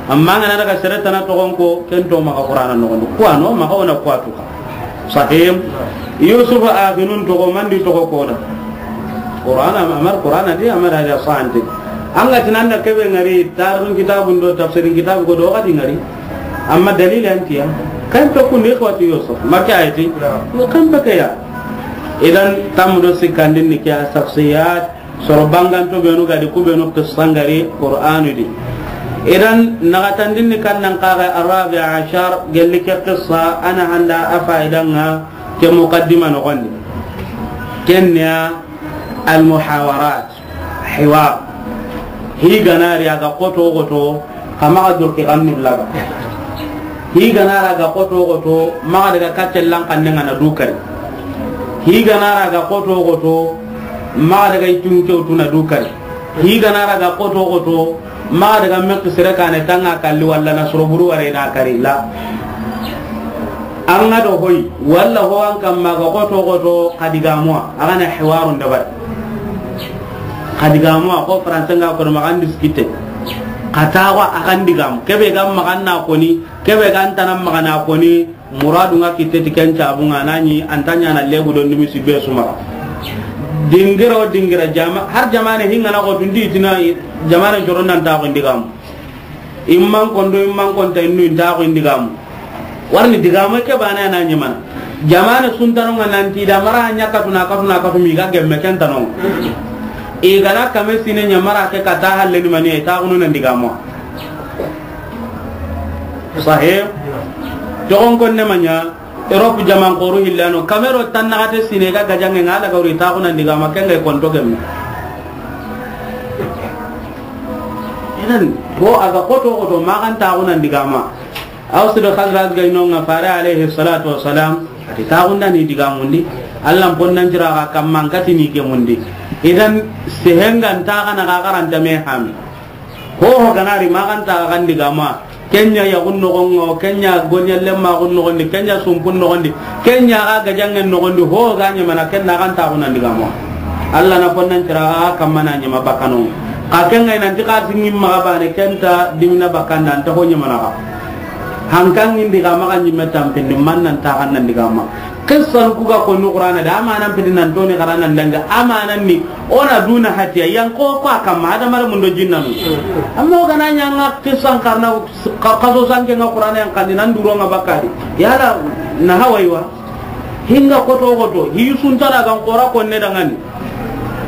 Amma ngana daga sere tana toxon ko, ken to maxa Qur'ana noxondi. Ku a no, maxa wona ku a tuka. Sahim. Yusuf a ginun toxo, mandi toxo koda. Qur'ana, amar Qur'ana di, amar hada sante. Anga tinanda kebe ŋari, tarun kitabun do, tafsirin kitabu ko do, kadi ŋari. Amma dalil antiya. Kan to kun ikhwatu Yusuf. Maka ayeti. Yo kan baka ya. Idan tamdo sikandin ni kya shakhsiyat. Soro banganto benu ga di ku benu qissa ŋari Qur'anu di. Idan naxatandin ni kannan kaxaye Ar-Rabi Ashar, gelli ke qissa a na handa a faidanga ke muqaddima noxondi. Kenya al-muhawarat, hiwar. Hi ganari a ga xoto xoto, Xa maxa durki xannu laga. Hi gana ra ga xoto xoto, maxa daga kaccen lan xanne ŋa na du kari. Hi gana ra ga xoto xoto, maxa daga itun kewtu na du kari. Hi gana ra ga xoto xoto, maxa daga mekki sere kane tanga kalli walla na soro buru ware na kari la. An ga do hoy, walla ho an kamma ga xoto xoto, xa digamuwa, a ga na hiwarun dabari. Xa digamuwa, ko français nga ko maxa an discuter. Xa taxu a xa digamu. Kebe ga maxa an na koni, kebe ga an tana maxa na koni, muradu nga kitte ti ken cabu nga nani, an ta ɲana legu do nimisi be su maxa. Dingira o dingira jama, har jamane hinga na ko tundi tina jamane joron nan ta ko digamu. Imman kondo, imman konta innu inta ko in digamu. Warni digamu ke bana na ɲimana. Jamane suntano nga nanti da mara ɲa katuna, katuna, katumi ga gemme ken tano. I gana kame sine ɲa mara ke kata halle ni mani ta kunu nan digamu. Sahih. Togon konne manya, Europe jaman koru hillano, kamero tan naxate sine ga gajange nga la gawri ta kunan digama, ken ga konto gemme. Idan, ko a ga xoto xoto, maxa an ta kunan digama. Aws do Khazraj ga ino nga fare alayhi salatu wassalam, a ti ta kunda ni digamundi. Allah ponnan jira ga kamman kati ni gemundi. Idan, sehenga nta kana ga garanta me hami. Ho ho gana ri maxa an ta xa digama. Kenya yaxun noxon ŋa, kenya gonya lemma xun noxondi, kenya sumpun noxondi, kenya xa gajangen noxondi, ho ga ɲamana, ken na xa an ta kunan digama. Allah na ponnan tira xa kamma na ɲama bakano. Xa ken ga nanti xa singin maxa bane, ken ta dimina bakanda, an ta ho ɲamana xa. Hankan indi ga maxa ɲimme tampindi, man nan taxan nan diga ma. Qissan ku ga konni Qur'ana da, amanan pidi nan toni xara nan danga, amanan ni, o na duna hatiya, yan ko ko a kamma, hadamare mun do jinnanu. Amma o ga na ɲa ŋa qissan xarana, xa-, xaso sanke ŋa Qur'ana yan kandi, nan duro ŋa bakari. Yala, na hawaiwa. Hinga koto koto, hi suntana gan xora konne dangani.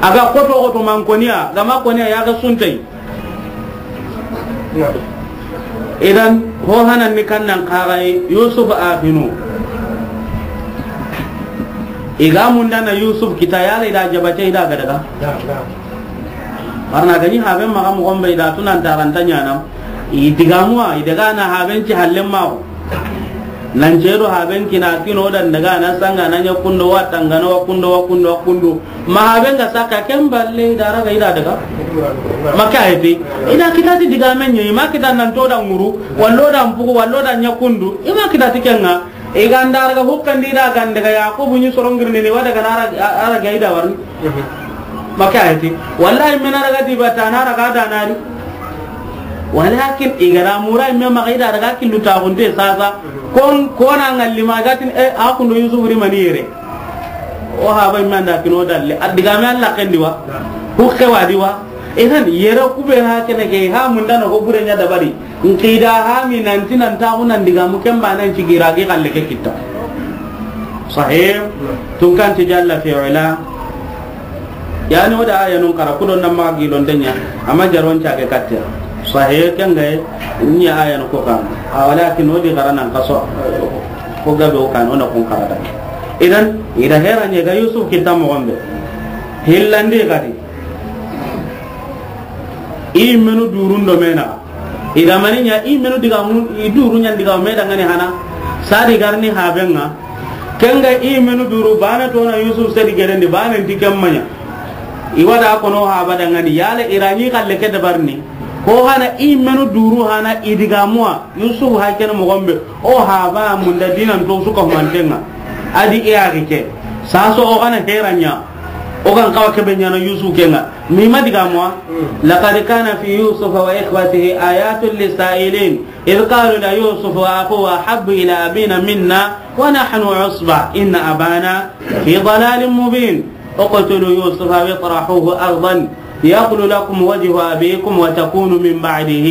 A ga koto koto man koniya, ga ma koniya ya ga suntai. Idan, ho hanan ni kannan kagai Yusuf a finu. I ga mundana Yusuf kita, yala i da jabate, i da ga daga. Barna gani haben maxa moxon be, i da tunan taranta ɲana. I digamuwa, i daga na haben ci hallen maxo. Nan cedo haben kina kino dan daga na sanga na ɲa kundo wa tangana wa kundo wa kundo wa kundo. Ma haben ga saka ken balle i da raga i da daga. Maka heti. I da kita ti digamen ɲi, ma kita nan to da ŋuru, wallo da mpugu, wallo da ɲa kundu. I ma kita ti kenga. I ga nda raga hukkandi da gande ga Yakubu ɲi sorongirni ni wada ga na raga, a-, a raga i da warni. Maka heti. Wallahi men raga di bata na raga da nari. Walakin i ga da mura me maxa i da raga killu ta gunde sasa. Kon, kona ngalli ma gatin, e, a kundo Yusuf ri mani yere. O haba men da kino dalle. A digame Alla kendi wa. Hukke wa di wa. Idan yere ku be na kene ke ha mundana ho bure ɲa dabari. Nki da ha mi nanti nan taxu nan digamu ken ba nan ci gira gi xalle ke kita. Sahih. Tun kan ti jalla fi ula. Yani o da aya nun kara ku do nan ma gi lon denya. Amma jaron ca ke katte. Sahih ken ga ni aya no ko kan. A walakin o di kara nan kaso. Ko gabe o kan o na kun kara da. Idan i da hera ɲa ga Yusuf kita moxon be. Hillandi gadi. I menu durun do mena. I ga mani ɲa, i menu digamu, i duru ɲan diga me dangani hana. Sadi garni habenga. Kenga i menu duru bana to na Yusuf sedi gerendi bana ndi kemmanya. I wada kono haba dangani yala i ra ɲi xalle ke dabarni. Ko hana i menu duru hana i digamuwa. Yusuf ha kene moxon be. O haba munda dinan to suka humantenga. Adi i agi ke. Saso o gana heranya. O gan kawa kebe ɲana Yusuf kenga. Mi ma digamuwa. لقد كان في يوسف وإخوته آيات للسائلين إذ قالوا ليوسف وأخوه أحب إلى أبينا منا ونحن عصبة إن أبانا في ضلال مبين. اقتلوا يوسف أو اطرحوه أرضا يخل لكم وجه أبيكم وتكونوا من بعده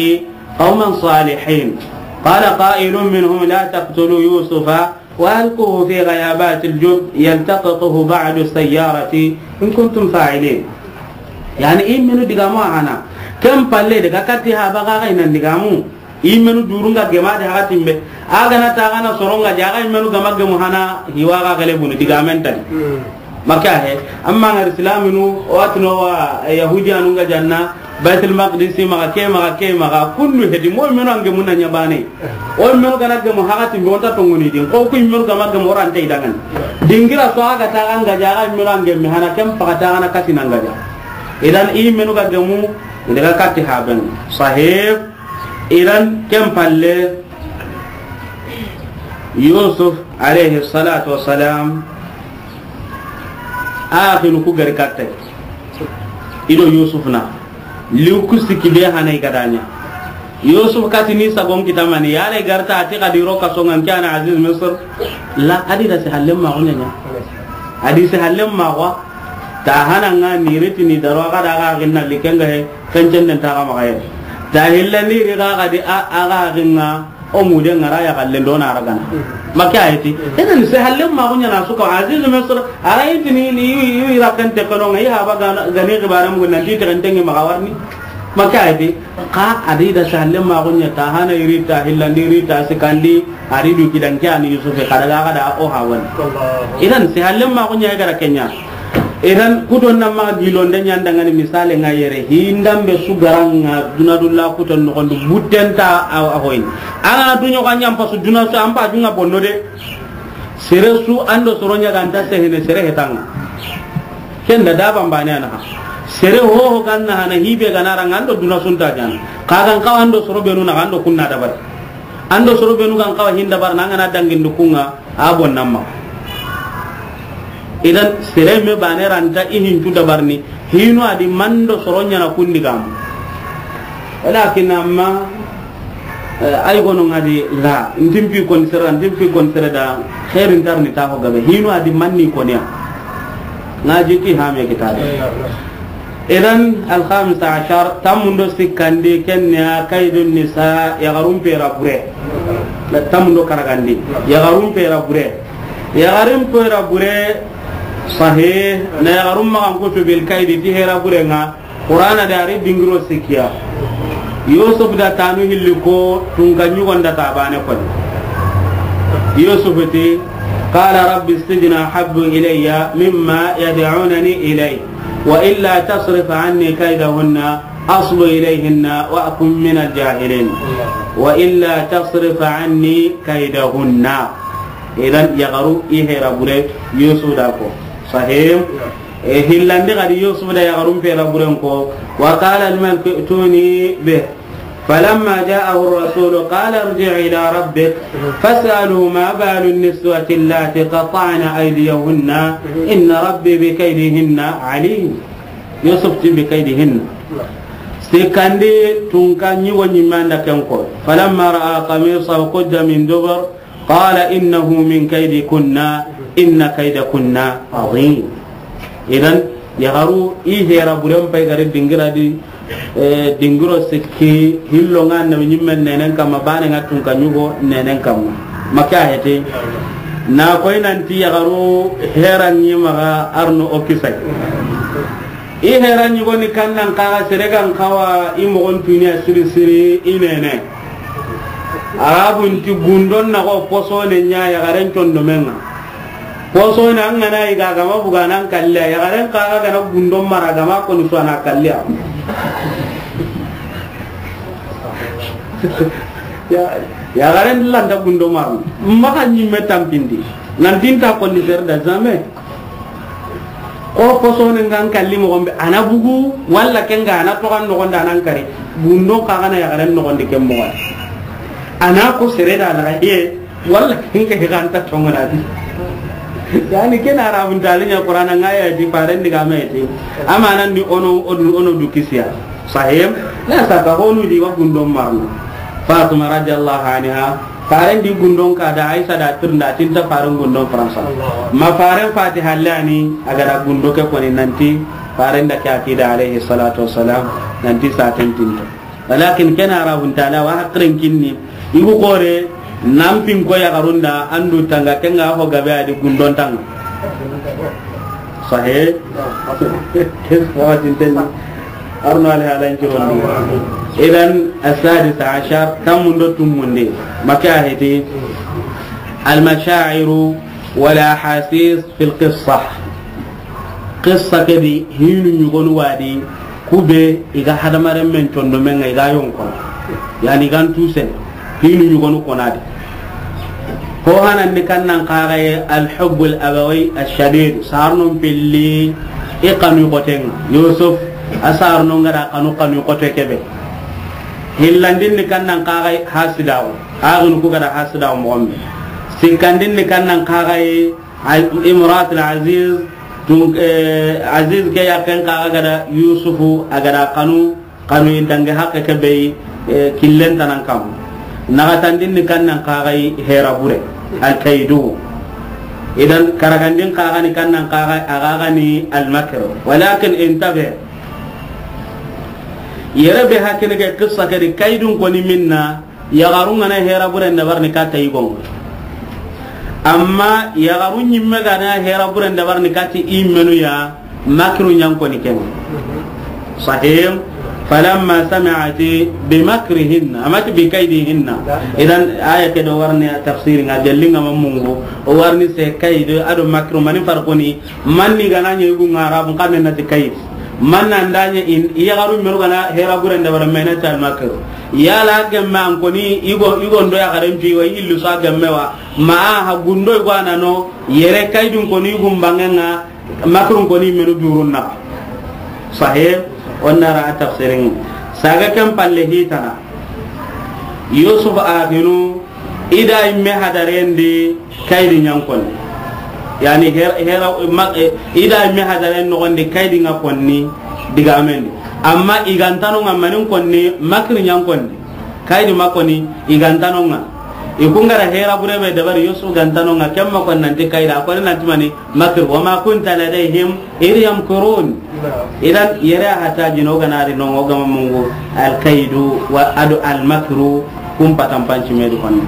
قوما صالحين. قال قائل منهم لا تقتلوا يوسف وألقوه في غيابات الجب يلتقطه بعض السيارة إن كنتم فاعلين. Yani, i menu digamu a hana. Ken palle daga katti haba ga ga i nan digamu. I menu durunga gema de hakatimbe. A gana ta gana soronga jaga i menu gama gemu hana hiwa ga gale bunu digamen tadi. Maka he, amma ngar islaminu, watno wa, eh, Yahudiyanu nga janna, Baitul Maqdis maga, ke maga, ke maga, kundu hedi, mo menu ange munna ɲa bane. O menu gana gemu hakatimbe, onta tongoni din, ko ku menu gama gemu orante idangan. Dingira so aga ta ganga jaga menu ange mi hana kem pakata gana kati nangaja. Idan i menu ga gemu, i daga kati haben. Sahib, idan ken palle, Yusuf alayhi salatu wassalam, Axinu ku gari katte. I do Yusuf na. Liw ku sikki be hana i ga da ɲa. Yusuf kati ni sagon kita mani. Yala i garta ati xadi ro kaso ŋa n ke ana Aziz Misr. La, a di da si hallen maxu ɲa ɲa. A di si hallen maxu. Ta hana ŋa ni riti ni daro a ga da ga ginna likenga he. Kencen den ta ga maxa ye. Ta hilla ni ri ga ga di a, a ga ginna. O mude ŋa ra ya galle ndo na ragana. Maka ayeti. Idan se halle ma gunya na suka Aziz Misr. Ara yiti ni, ni, ni, ni rakan te kono ŋa i haba gana, gani gibara mu nan ti te kan tengi ma gawarni. Maka ayeti. Ka a di da se halle ma gunya ta hana i ri ta hillandi i ri ta sikandi a ri du gidan ke ani Yusuf ka daga ga da o hawan. Idan se halle ma gunya ga ra kenya. Idan, kuton na ma gilonde ɲandangani misale ŋa yere, hindambe su garanga duna dulla kuton noxondi buttenta a, a hoyni. An ga na duɲo ga ɲa n pasu duna su, an pa junga bonno de. Sere su an do soro ɲa ga nta sehene sere hetanga. Ken da daba mbane a naxa. Sere hoho ga na hana hibe ga na ranga an do duna su nta ɲana. Ka ga n kawa an do soro benu naxa an do kunna dabari. An do soro benu ga n kawa hinda bar na an ga na dangin du kunga. A bon namma. Idan, sere me bane ranta i hintu dabarni. Hinu a di mando soro ɲana kundi gam. Walakin amma, Eh, ay gono ŋa di la, ntimpi kon sere, ntimpi kon sere da, xeerin tarni ta ho gabe, hinu a di manni koniya. Ŋa jiki hame kitabe. Idan, alhamisa ashar, tamundo sikkandi, kenya, kaidun nisa, yaxarun pera bure. Tamundo karagandi, yaxarun pera bure. Yaxarin pera bure, sahih, na yaxarun maxan kutu bil kaidi, ti hera bure ŋa, Qur'ana da ari dingiro sikkiya. Yusuf da tanu hilli ko tunka ɲugon da tabane koni. Yusuf ti, qala rabbi sijna habbu ilayya mimma yad'unani ilay, wa illa tasrif anni kaydahunna asbu ilayhinna wa akun min al-jahilin. Wa illa tasrif anni kaydahunna. Idan yaxaru i hera bure Yusuf da ko. Sahih. E, hillandi gadi Yusuf da yaxarun pera buren ko. Wa qala al-malik ituni bih. Falamma ja'ahu ar-rasul qala irji' ila rabbik fas'alhu ma balu an-niswati allati qata'na aydiyahunna inna rabbi bi kaydihinna alim. Yusuf ti bi kaydihinna. Sikkandi tunka ɲugo ɲimme an da ken ko. Falamma ra'a qamisahu qudda min dubur. Qala innahu min kaydikunna inna kaydakunna azim. Idan, yaxaru i hera buren pay gare dingira di, eh, dingiro sikki hillo ŋa annabi ɲimmen nenen kamma, bane ŋa tunka ɲugo nenen kamma. Maka hete. Na koy nanti yaxaru hera ɲi maxa arno o kisay. I hera ɲugoni kannan kaxa sere gan xawa i moxon tuniya siri siri i nene. Arabun ti gundon na xo posone ɲa yaxaren condomen ŋa. Posone an gana i ga gama buga nan kalliya yaxaren kaxa gana gundon mara gama koni suwana kalliya. Ya, yaxaren lanta gundo marno. Maxa ɲimme tampindi. Nantinta konni sere da jamais. Ko posone ngan kalli moxon be, a na bugu, walla ken ga a na toxan noxon da nan kari. Gundon xa gana yaxaren noxon di ken moxon. A na ko sere da na ye, walla ken ga xanta tongona di. Yani ken Arabun talinya Qur'ana ŋa ya di faren di ga mete. Amanan di ono, odu, ono du kisiya. Sahih. Na saka honu di wa gundon marno. Fatima radiyallahu anha, faren di gundon ka da Aisha da tirnda tinta faren gundon Faransa. Ma faren fati hallani a ga da gundo ke koni nanti faren da ke akida alayhi salatu wassalam nanti sa tentinto. Walakin ken Arabun tala wa hakiren kinni. Igu kore, nan pin ko yaxarun da, an du tanga, ken ga ho gabe a di gundon tanga. Sahih? Ken watin ten. Arno ali halan kirondi. Idan, as-sadisa ashar, tamundo tumundi. Maka heti, al-masha'iru wal ahasis fil qissa. Qissa ke di hinu ɲugonu wa di, kube i ga hadamaren men condomen ŋa i ga yonkono. Yani i gan tusen hinu ɲugonu kona di. Ko hanan ni kannan kaxaye al-hubbul abawi ash-shadid, sarnon pilli i xanu xoten ŋa. Yusuf a sarnon ga da xanu xanu xote kebe. Hillandin ni kannan kaxaye hasidawo. Axinu ku ga da hasidawo moxon be. Sikkandin ni kannan kaxaye Al-, Imratul Aziz, tun, eh, Aziz ke yaqqen kaxa ga da Yusufu, a ga da xanu, xanu i dangi haqqe ke be, eh, killen tanan kam. Naxatandin ni kannan kaxay hera bure, al-kaydu. Idan karagandin kaxa ni kannan kaxay, a ga ga ni al-makr. Walakin intabe. Yere be hakkene ke qissa ke di kaydun koni minna, yaxarun ga na hera buren dabarini kata i gongo. Amma yaxarun ɲimme ga na hera buren dabarini kati i menu ya, makru ɲan koni ken. Sahih. Falamma sami'at bi makrihinna, amat bi kaydihinna. Idan aya ke do warni tafsir nga jalli nga mamungu, o warni se kaydi ado makru mani farquni, manni ga na ɲe gu nga Arabun xannen na ti kaydi. Manna ndanye in, i yaxaru menu ga na hera buren dabari me na ti al-makr. Yala gemme an koni, i go, i gondo yaxaren pi wa, i illu sa gemme wa. Ma a ha gundo i go a na no, yere kaydun koni i gumbangen ŋa, makrun koni menu durun na. Sahih, onna ra tafsirin. Saga ken palle hitana. Yusuf axinu, i da i me hadaren di kaydi ɲan konni. Yani her-, hera, ma-, eh, i da i me hadaren noxon di kaydi nga konni digamen di. Amma i gantanu nga manin konni makri ɲan konni. Kaydi ma koni, i ga nta no ŋa. I ku ga ra hera bure be dabari, Yusuf ga nta no ŋa, ken ma koni nanti kaydi, a koni nanti mani, makr, wa ma kunta ladayhim idh yamkurun. Idan, yere a hata jino ga na ri no ŋa, o ga ma mungu, al kaydu, wa ado al makru, kun patan panci me du koni.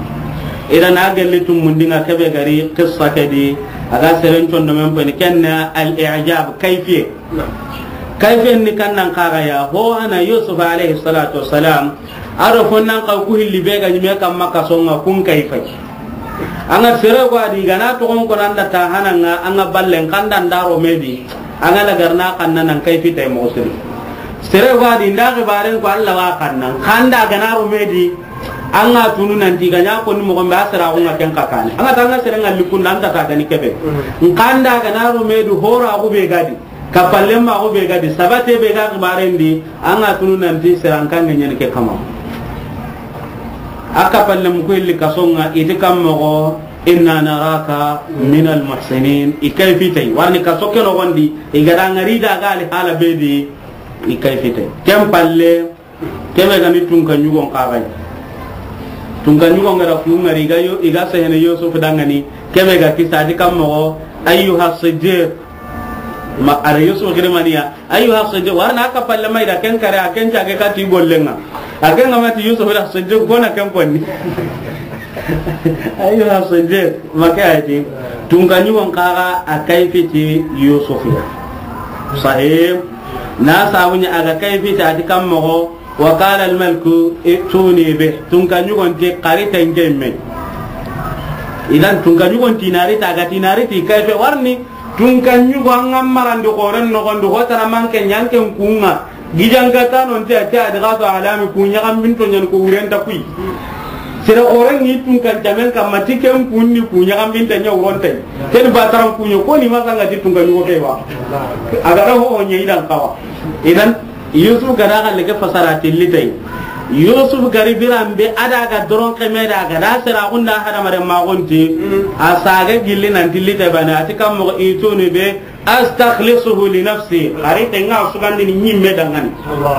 Idan, a gelli tumundi ŋa kebe ga ri, qissa ke di, a ga seren condo men peni, ken na al i'jab, kayfiye. Kayfiyen ni kan nan kaga ya, ho hana Yusuf alayhi salatu wassalam, a do fo nan ka ku hilli be ga ɲi me kan ma kaso ŋa kun kayfay. An ga sere go a di ga na toxon ko nan da ta hana ŋa, an ga ballen kan da ndaro me di, an ga na garna kan nan kayfi tay mo siri. Sere go a di nda xibaren ko Allah wa kan nan, kan da ga na ro me di, an ga tunu nanti ga ɲa ko ni mo gombe a sera ko ŋa ken ka kane. An ga ta ŋa sere ŋa likun nan ta ta ga ni kebe. Kan da ga na ro me di hora ko be ga di. Kappalenmaaxu be ga di, sabate be ga xibaren di, an ga tunu nanti sere an kanŋe ɲeni ke kama. A kappalemu ku illi kaso ŋa, i ti kan moxo, inna naraka minal muhsinin. I kayfi tay, warni kaso ke noxon di, i ga da ŋari da ga ali hala be di, i kayfi tay. Ken palle, Kebe ga ni tunka ɲugon kaga yi. Tunka ɲugon ga da ku ŋari, i ga yo, i ga sehene Yusuf dangani. Kebe ga kisa di kan moxo, ayyuha siddiq. Ma a da Yusuf giri maniya, ayyuha siddiq. Warna a kappalema i da ken kare, a ken cage kati gollen ŋa. A ken ga ma ti Yusuf da siddiq, ko na ken konni. Ayyuha siddiq, ma ke a yi ti. Tunka ɲugon kaga a kayfi ti Yusuf ya. Sahih. Na sabu ɲa a ga kayfi ti a ti kan moxo, wa qala al maliku ituni bih. Tunka ɲugon ti xari tenke me. Idan tunka ɲugon ti nari ta ga ti nari ti kayfe warni. Tunka ɲugo an ga marandi xoren noxon di, ho tana manke ɲanken ku ŋa. Gijanka tano nti a ti a di ga to alami ku ɲaxambinto ɲani ko wurenta kuyi. Sere xoren ŋi tunkan camen kamma ti ken kunni ku ɲaxambinta ɲa wurontay. Ken bataran kuɲo ko ni ma sanga ti tunka ɲugo ke wa. A ga da ho ho ɲe i dan kawa. Idan Yusuf ga da xalle ke fasara tilli tay. Yusuf gari biran be a da ga doron keme da ga da sera gunda hadamaren maxunti. A saga gilli nan tilli tay bane a ti kan moxo ituni bih astakhlisuhu li nafsi. Xari tenga sugandini ɲimme dangani.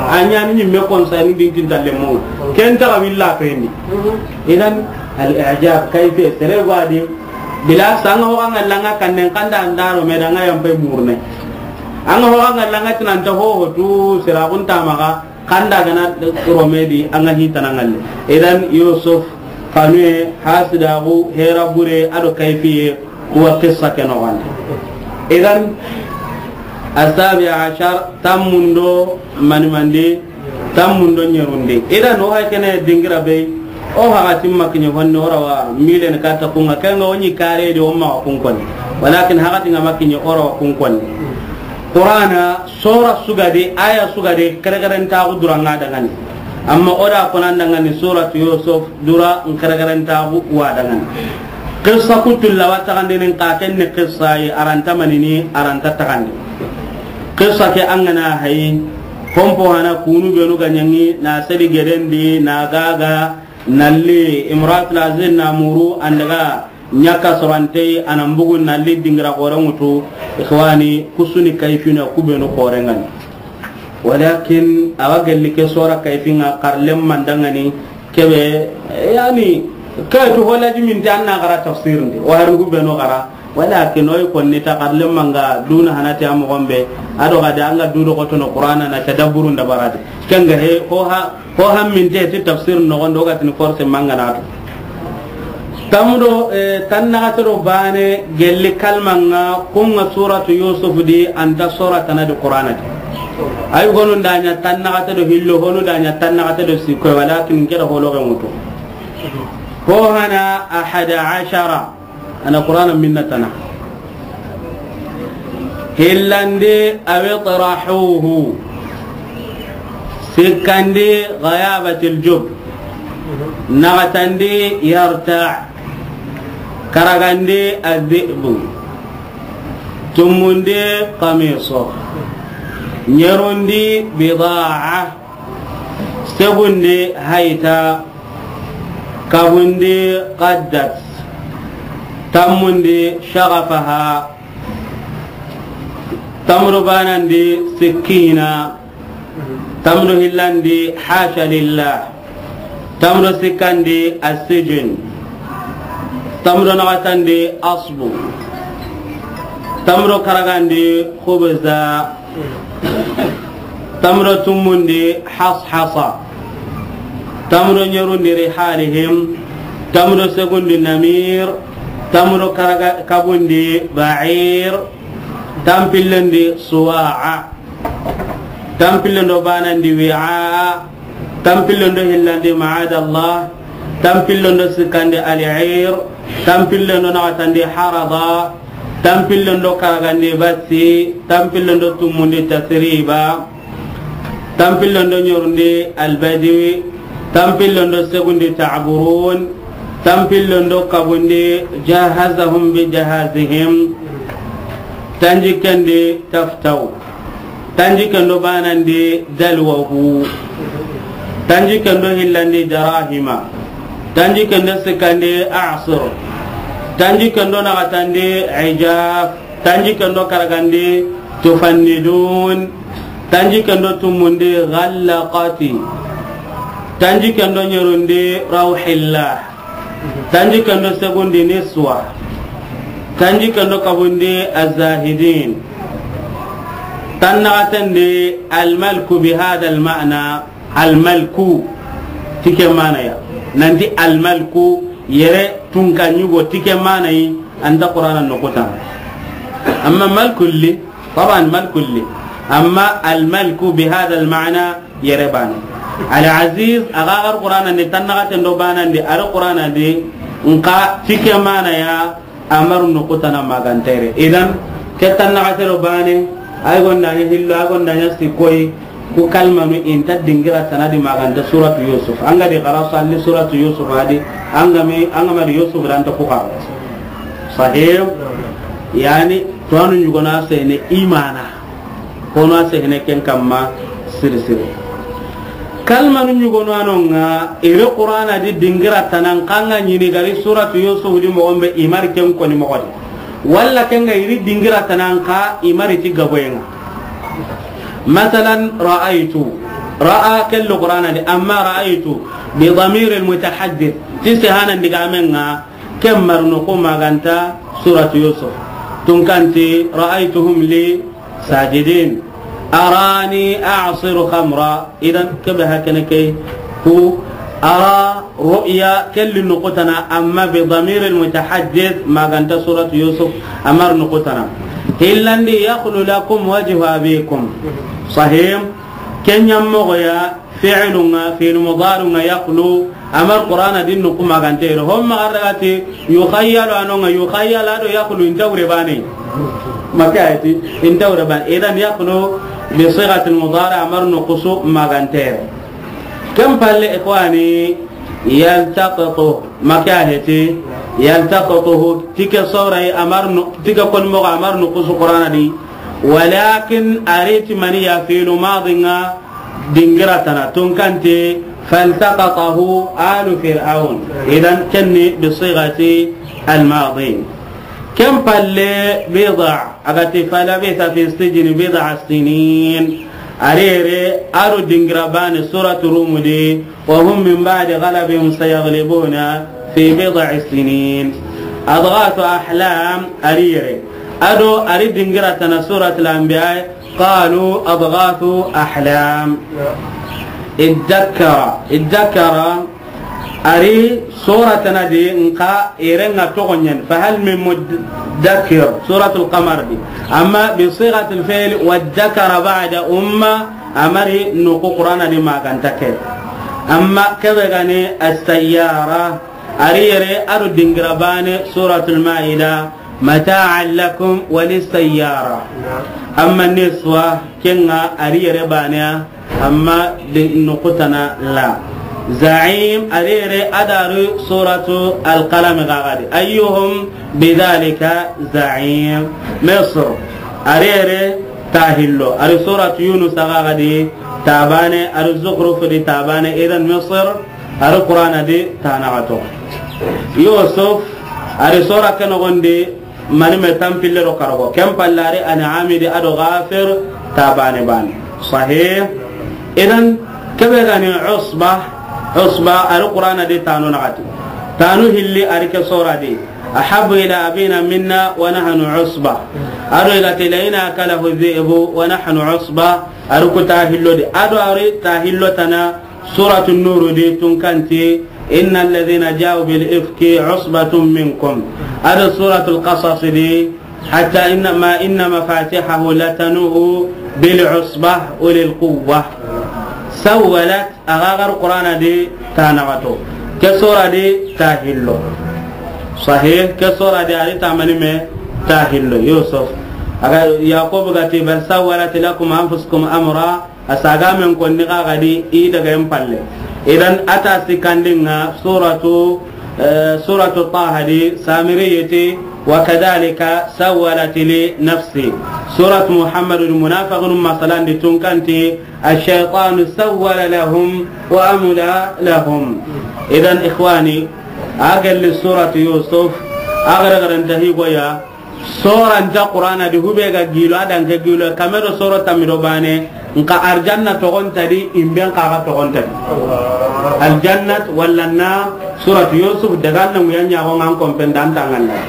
A ɲani ɲimme konsani dinkin talle mo. Ken taga willa fendi. Idan al i'jab kayfe sere wadi. Bila sanga ho anga langa kannen kanda andaro me danga yampe murne. Anga ho anga langa tinanta ho ho tu sera kun tamaga. Kanda gana rome di anga hitana ngalle. Idan Yusuf, kanue, hasidaxu, hera bure, ado kayfiye, kuwa qissa ke noxon di. Idan, asabi ashar, tammundo, manimandi, tammundo ɲerundi. Idan, o hay kene dingira be, o haxati makiɲe honne, o rawa milen katta kunga, kenga o ɲi kare di, o maxa kun konni. Walakin haxati nga makiɲe, o rawa kun konni. Qur'ana, sora sugadi, aya sugadi, kerekerentaxu duranga dangani. Amma o da konan dangani, suratu Yusuf, dura n kerekerentaxu wa dangani. Qissa kutulla wa taxandini, ka ken ni qissa yi, aranta manini, aranta taxandi. Qissa ke angana hayi, hompo hana kunu benu ga ɲangi, na sedi gedendi, na gaga, nalli, Imratul Aziz na muru, andaga, Ɲaka sorantey, a na mbugu na li dingira xore ŋutu, ikhwani, kusuni kayfina, ku benu xore ngani. Walakin, awa gelli ke sora kayfinga, xarlem mandangani, kebe, yani, kaytu hola jiminte an na xara tafsir ndi, o harin ku benu xara, walakin, oy konni ta xarlem manga, duna hanati a moxon be, ado gade anga dudo xotono Qur'ana na tadabburu ndabarade. Kenga he, ho ha, Ho hamminte ti tafsir noxon do gatini force manganato. Tamudo, eh, tannaxate do bane gelli kalmanga kunga suratu Yusuf di anta sora tana di Qur'ana di. Ay gonu ndanya tannaxate do hillo honu ndanya tannaxate do sikko walakin keda holo ga mutu. Ho hana ahada ashara. Ana Qur'ana minna tana. Hillandi aw itrahuhu. Sikkandi ghayabatil jub. Naxatandi yarta'. Karagandi adhi'bu. Tumundi qamiso. Ɲerundi bida'a. Segundi hayta. Kabundi qaddat. Tammundi shaghafaha. Tamru banandi sikkina. Tamru hillandi hasha lillah. Tanmu do sikkandi as-sijin. Tanmu do naxatandi asbu. Tanmu do karagandi khubza. Tanmu do tumundi hashasha. Tanmu do ɲerundi rihalihim. Tanmu do segundi namir. Tanmu do karaga kabundi ba'ir. Tanpillendi suwa'a. Tanpillendo banandi wi'a. Tanpillendo hillandi ma'adallah. Tanpillendo sikkandi al'ir. Tanpillendo naxatandi harada. Tanpillendo karagandi basi. Tanpillendo tumundi tasriba. Tanpillendo ɲerundi albadwi. Tanpillendo segundi ta'burun. Tanpillendo kabundi jahazahum bi jahazihim. Tanjikendi taftaw. Tanjikendo banandi dalwahu. Tanjikendo hillandi darahima. Tanjikendo sikkandi a'sir. Tanjikendo naxatandi ijaf. Tanjikendo karagandi tufannidun. Tanjikendo tumundi ghallaqati. Tanjikendo ɲerundi rawhillah. Tanjikendo segundi niswa. Tanjikendo kabundi azahidin. Tannaxatandi almalku bi hada alma'na. Almalku, ti ke mana ya. Nanti almalku yere tunka ɲugo ti ke mana yi, anta Qur'ana noxu tana. Amma malkulli, taban malkulli. Amma almalku bi hada alma'na yere bane. Al-aziz, a ga gar Qur'ana ni tannaxatendo banandi, ar Qur'ana di, nka ti ke mana ya, amaru noxu tana magantere. Idan, ke tannaxatero bane, ay gonda ɲa hillo, ay gonda ɲa sikkoyi, ku kalmanu inta dingira tana di maganta suratu Yusuf. An ga di xara salli suratu Yusuf a di, an ga mi, an ga ma di Yusuf ranta ku xara. Sahih? Yani, tuwanu ɲugona sene imana. Kono a sehene ken kamma siri siri. Kalmanu ɲugonu a no ŋa, iri Qur'ana di dingira tana n xa ŋa ɲini gari suratu Yusuf di moxo be i mari ken koni moxo di. Walla ken ga iri dingira tana n xa i mari ti gaboye ŋa. Masalan, ra'aytu. Ra'a kellu Qur'ana di, amma ra'aytu bi damir al mutahaddith. Ti sehana ndigamen ŋa, ken marno ko maganta suratu Yusuf. Tunkanti, ra'aytuhum li sajidin. Arani a'siru khamra. Idan, kebe hakene ke ku ara ru'ya kelli noxu tana, amma bi damir al mutahaddith maganta suratu Yusuf, amar noxu tana. Hillandi, yakhlu lakum wajhu abikum. Sahih. Ken ɲa moxo ya, fi'lu ŋa, fi'lu mudari ŋa, yakhlu, amar Qur'ana di noxu magante ro. Hom ma garagati, yukhayyalu a no ŋa, yukhayyalu a do yakhlu inta wure bane. Maka ayati, inta wure bane. Idan yakhlu bi sighatil mudari, amar noxu su magante ro. Ken palle, ikhwani, yaltaqitu, maka ayati, yaltaqituhu, ti ke sora yi, amar no, ti ke koni moxo, amar noxu su Qur'ana di. Walakin ariti mani ya, fi'lu madi ŋa, dingira tana, tunkanti, faltaqatahu alu Fir'aun. Idan, kenni bi sighati al-madi. Ken palle, bid'a, a ga ti, falabitha fi sijni bid'a sinin. Arere, aro dingira bane suratu Rum di, wa hum min ba'di ghalabihim sayaghlibuna fi bid'i sinin. Adghathu ahlam, arere. Ado, ari dingira tana suratul Anbiya, qalu adghathu ahlam. Iddakkara, iddakkara, ari sora tana di nka ere ŋa toxo ɲen, fa hal min muddakkir, suratul Qamar di. Amma bi sighatil fi'l, waddakara ba'da umma, amari noxu Qur'ana di maganta ke. Amma kebe gani as-sayyara, ari yere aro dingira bane suratul Maida, mata'an lakum wa lis-sayyara. Amma niswa, ken ŋa ari yere bane ya, amma di noxu tana la. Za'im, arere adaru suratu Al-Qalam gagadi. Ayyuhum bidhalika za'im. Misr, arere tahillo. Ari suratu Yunus gagadi tabane, ari Zukhruf di tabane. Idan Misr, ari Qur'ana di tanaxato. Yusuf, ari sora ke noxondi, mani me tanpille do karago. Ken pallari An'ami di ado Ghafir ta bane bane. Sahih. Idan, kebe gani Usba, Usba, a ri Qur'ana di tanu naxati. Tanu hilli a ri ke sora di. Ahabbu ila abina minna wa nahnu usba. A do i ga ti la in akalahu dhi'bu wa nahnu usba. A ri ku ta hillo di. A do a ri ta hillo tana Suratu Nuru di tun kanti, inna alladhina ja'u bil ifki usbatun minkum. A do Suratul Qasas di, hatta inna ma, inna mafatihahu latanu bil usba ulil quwwa. Sawwalat, a ga gar Qur'ana di ta naxato. Ke sora di ta hillo. Sahih, ke sora di a ri ta mani me ta hillo. Yusuf. A ga Yaqub ga ti, bal sawwalat lakum anfusukum amra. A saga men konni xa ga di i daga en palle. Idan a ta sikandinga suratu, eh, suratu Taha di Samiri yeti, wa kadhalika sawwalat li nafsi. Suratu Muhammadu di munafiqun masalan di tun kanti, ash-shaytanu sawwala lahum wa amla lahum. Idan ikhwani, a gelli suratu Yusuf, a gara garanta higoya, Soranta Qur'ana di hube ga gilo, a danke gilo, kame do soro tamido bane, nka arjanna togonta di, imben kaga togonta di. Aljannat walla na Suratu Yusuf daga na nguya nyago ngan kompen dan tanganda.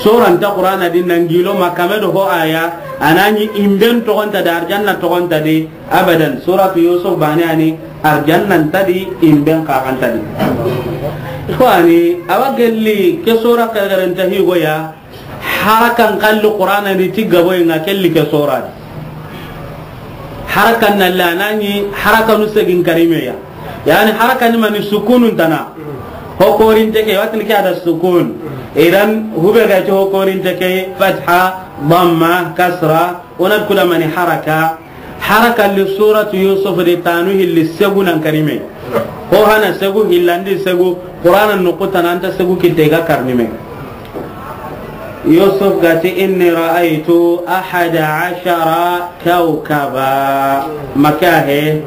Soranta Qur'ana di nan gilo ma kame do ho aya, anani imben togonta di, arjanna togonta di, Abadan, Suratu Yusuf bane ani arjannan ta di, imben kagan ta di. Ikhwani, awa gelli ke sora kare-karen ta higoya, harakan kalli Qur'ana ni ti gaboye nga kelli ke sora di. Harakan na lanani, harakanu segin karimeya. Yani harakan mani sukunun tana. Ho korinte ke, watin ke ada sukun. Idan, hube ga ti ho korinte ke, fatha, damma, kasra, onat kuda mani haraka. Haraka li Suratu Yusuf de tanu hilli segu nan karime. Ho hana segu hillandi segu, Qur'ana nukuta nanta segu kitte ga karnime. Yusuf gati, "Inni ra'aytu ahada ashara kawkaba." Makahe.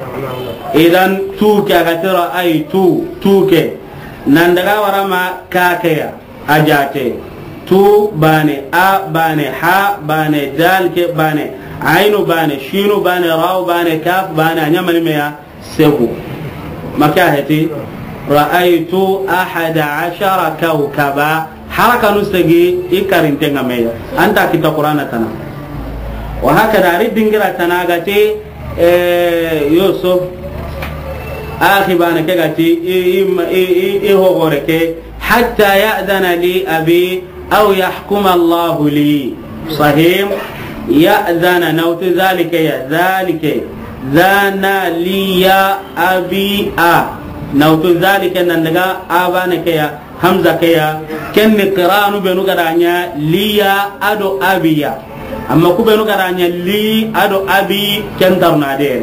Idan tuke agati ra'aytu, tuke. Nan daga warama kakeya. A jate. Tu bane, a bane, ha bane, dal ke bane, ainu bane, shinu bane, rau bane, kaf bane, a nyamani meya, segu. Maka heti, "Ra'aytu ahada ashara kawkaba." Harakanu segi, i karinte nga meya. Anta kita Qur'ana tana. Wa hakada, ari dingira tana gati, eh, Yusuf, akhi bane ke gati, i, i, i, i, i hogore ke, "Hatta ya'dhana li abi aw yahkuma Allahu li." Sahim, ya'dhana, nautu zalika ya, zalika. Dhana li ya abi a. Nautu zalika nan daga abana ke ya, hamza ke ya. Ken ni qiranu benu gadanya li ya ado abi ya. Amma ku benu gadanya li ado abi ken tarna de.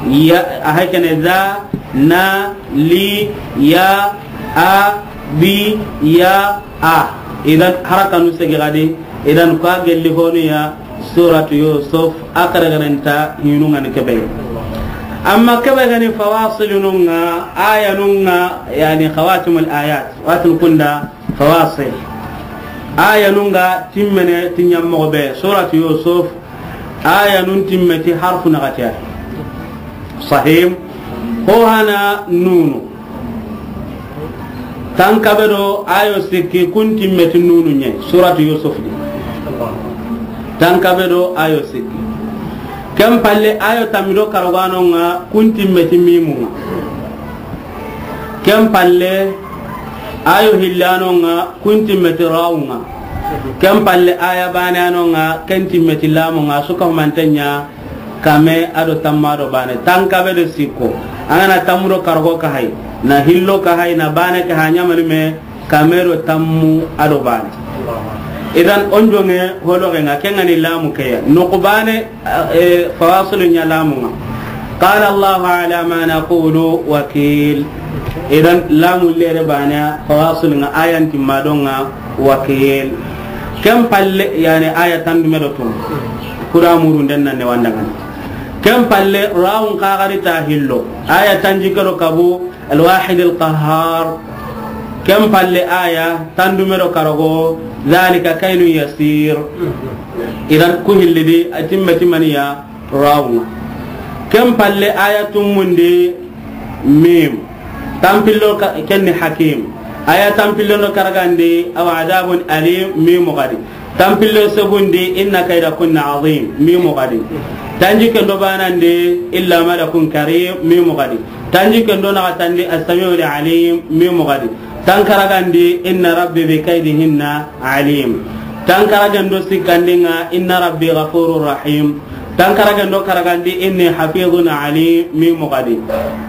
Ya, a hakene za, na, li, ya, a, bi, ya, a. Idan harakanu segi gadi. Idan kwa gelli honu ya Suratu Yusuf a karagaranta hinu ngani kebe. Amma kebe gani fawasilununga, ayanunga, yani khawatimul ayat. Watul kunda fawasil. Ayanunga timmene tinyammo be. Suratu Yusuf ayanun timmeti harfu nagatiya. Sahim. Ho hana nunu. Tankabe do ayo sikki kun timmeti nunu nye, Suratu Yusuf di. Tankabe do ayo sikki. Ken palle ayo tamido karogano nga kun timmeti mimu nga. Ken palle ayo hillano nga kun timmeti rawu nga. Ken palle aya bane ano nga ken timmeti lamu nga suka humantenya. Kame ado tamma do bane. Tankabe do sikko. Angana tammu do kargo ka hay. Na hillo ka hay, na bane ka hanya mani me. Kame do tammu ado bane. Idan onjonge holo nga kengani lamu keya. Noku bane, eh, fawasilu nya lamu nga. Qala Allahu ala ma naqulu wakil. Idan lamu lere bane fawasilu nga ayan timma do nga wakil. Ken palle, yani, aya tandume do tun. Kuda murun den nan ne wandangani. Ken palle, rawun kagari ta hillo. Aya tanji kero kabu, Al-Wahid Al-Qahhar. Ken palle aya tandume do karago, dhalika kaylun yasir. Idan ku hillidi, a timme timmaniya, rawun. Ken palle aya tumundi, Mim. Tanpillo ka-, ken ni Hakim. Aya tanpillo no karagandi, aw adabun alim, mimu gadi. Tanpillo segundi, inna kaydakunna azim, mimu gadi. Tanjikke ndo banandi, illa malakun karim, mimu gadi. Tanjikke ndo naxatandi, as-sami'ul alim, mimu gadi. Tankaragandi, inna rabbi bi kaydihinna alim. Tankaragendo sikkandinga, inna rabbi ghafurur rahim. Tankaragendo karagandi, inni hafizun alim, mimu gadi.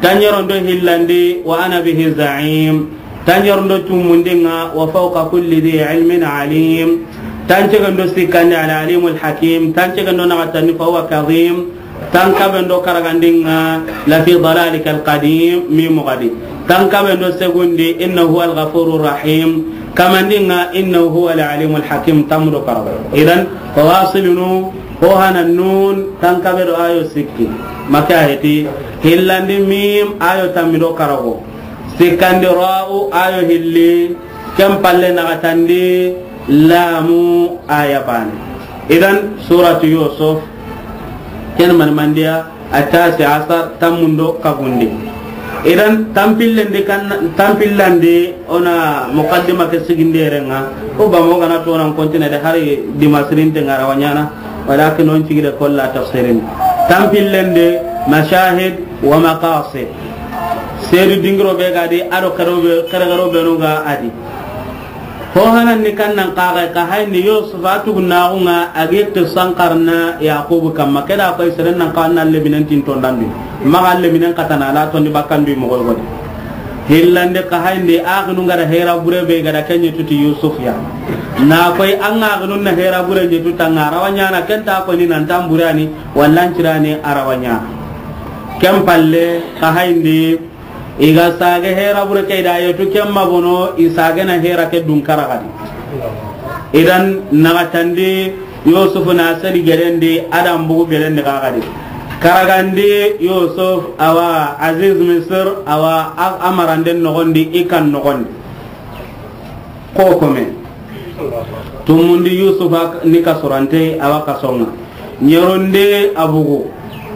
Tanyarondo hillandi, wa ana bihi za'im. Tanyarondo tumundinga, wa fawqa kulli dhi ilmin alim. Tancegendo sikkandi, al alimul hakim. Tancegendo naxatandi, fa huwa kadhim. Tankabendo karagandinga, la fi dalalikal qadim, mimu gadi. Tankabendo segundi, innahu huwal ghafurur rahim. Kamandinga, innahu huwal alimul hakim, tamudo karago. Idan, fawasilunu, ho hana nun, tankabedo ayo sikki. Maka heti, hillandi mim, ayo tamido karago. Sikkandi ra'u, ayo hilli, ken palle naxatandi, lamu, aya bane. Idan, suratu Yusuf, ken man mandiya, atasi asar, tammundo kagundi. Idan, tampillendi kan, tampillandi, ona muqaddima ke siginderenga, o ba mo gana tonan kontina de hari dimasirinte ngara wanyana, walakin on cigide kolla tafsirin. Tampillende, mashahid wa maqasid. Seedu dingiro be ga di, ado kero be, kere kero be no ga adi. Ho hanan ni kannan kaga ka hayni Yusuf a tugunaxunga a gi qisan karna Yaqubu kamma. Keda koy seren nan ka na leminen tin tondandi. Maxa leminen katana la tondi bakkandu moxo godi. Hillande ka hayndi axinu ngada hera bure be gada kenye tuti Yusuf ya. Na koy an axinu na hera bure nye tutanga rawa nyana kenta ko ni nan tamburani wallan cirani arawa nyana. Ken palle ka hayndi Iga sage hera bure ke da yetu kemma bono i sage na hera ke dun karagadi. Idan nagatandi Yusuf na sedi gerendi adam bugu gerendi kagadi. Karagandi Yusuf awa Aziz Misir awa a-, amaranden nogondi ikan nogondi. Kokome. Tumundi Yusufa ni kasurante awa kasonga. Nyeronde abugu.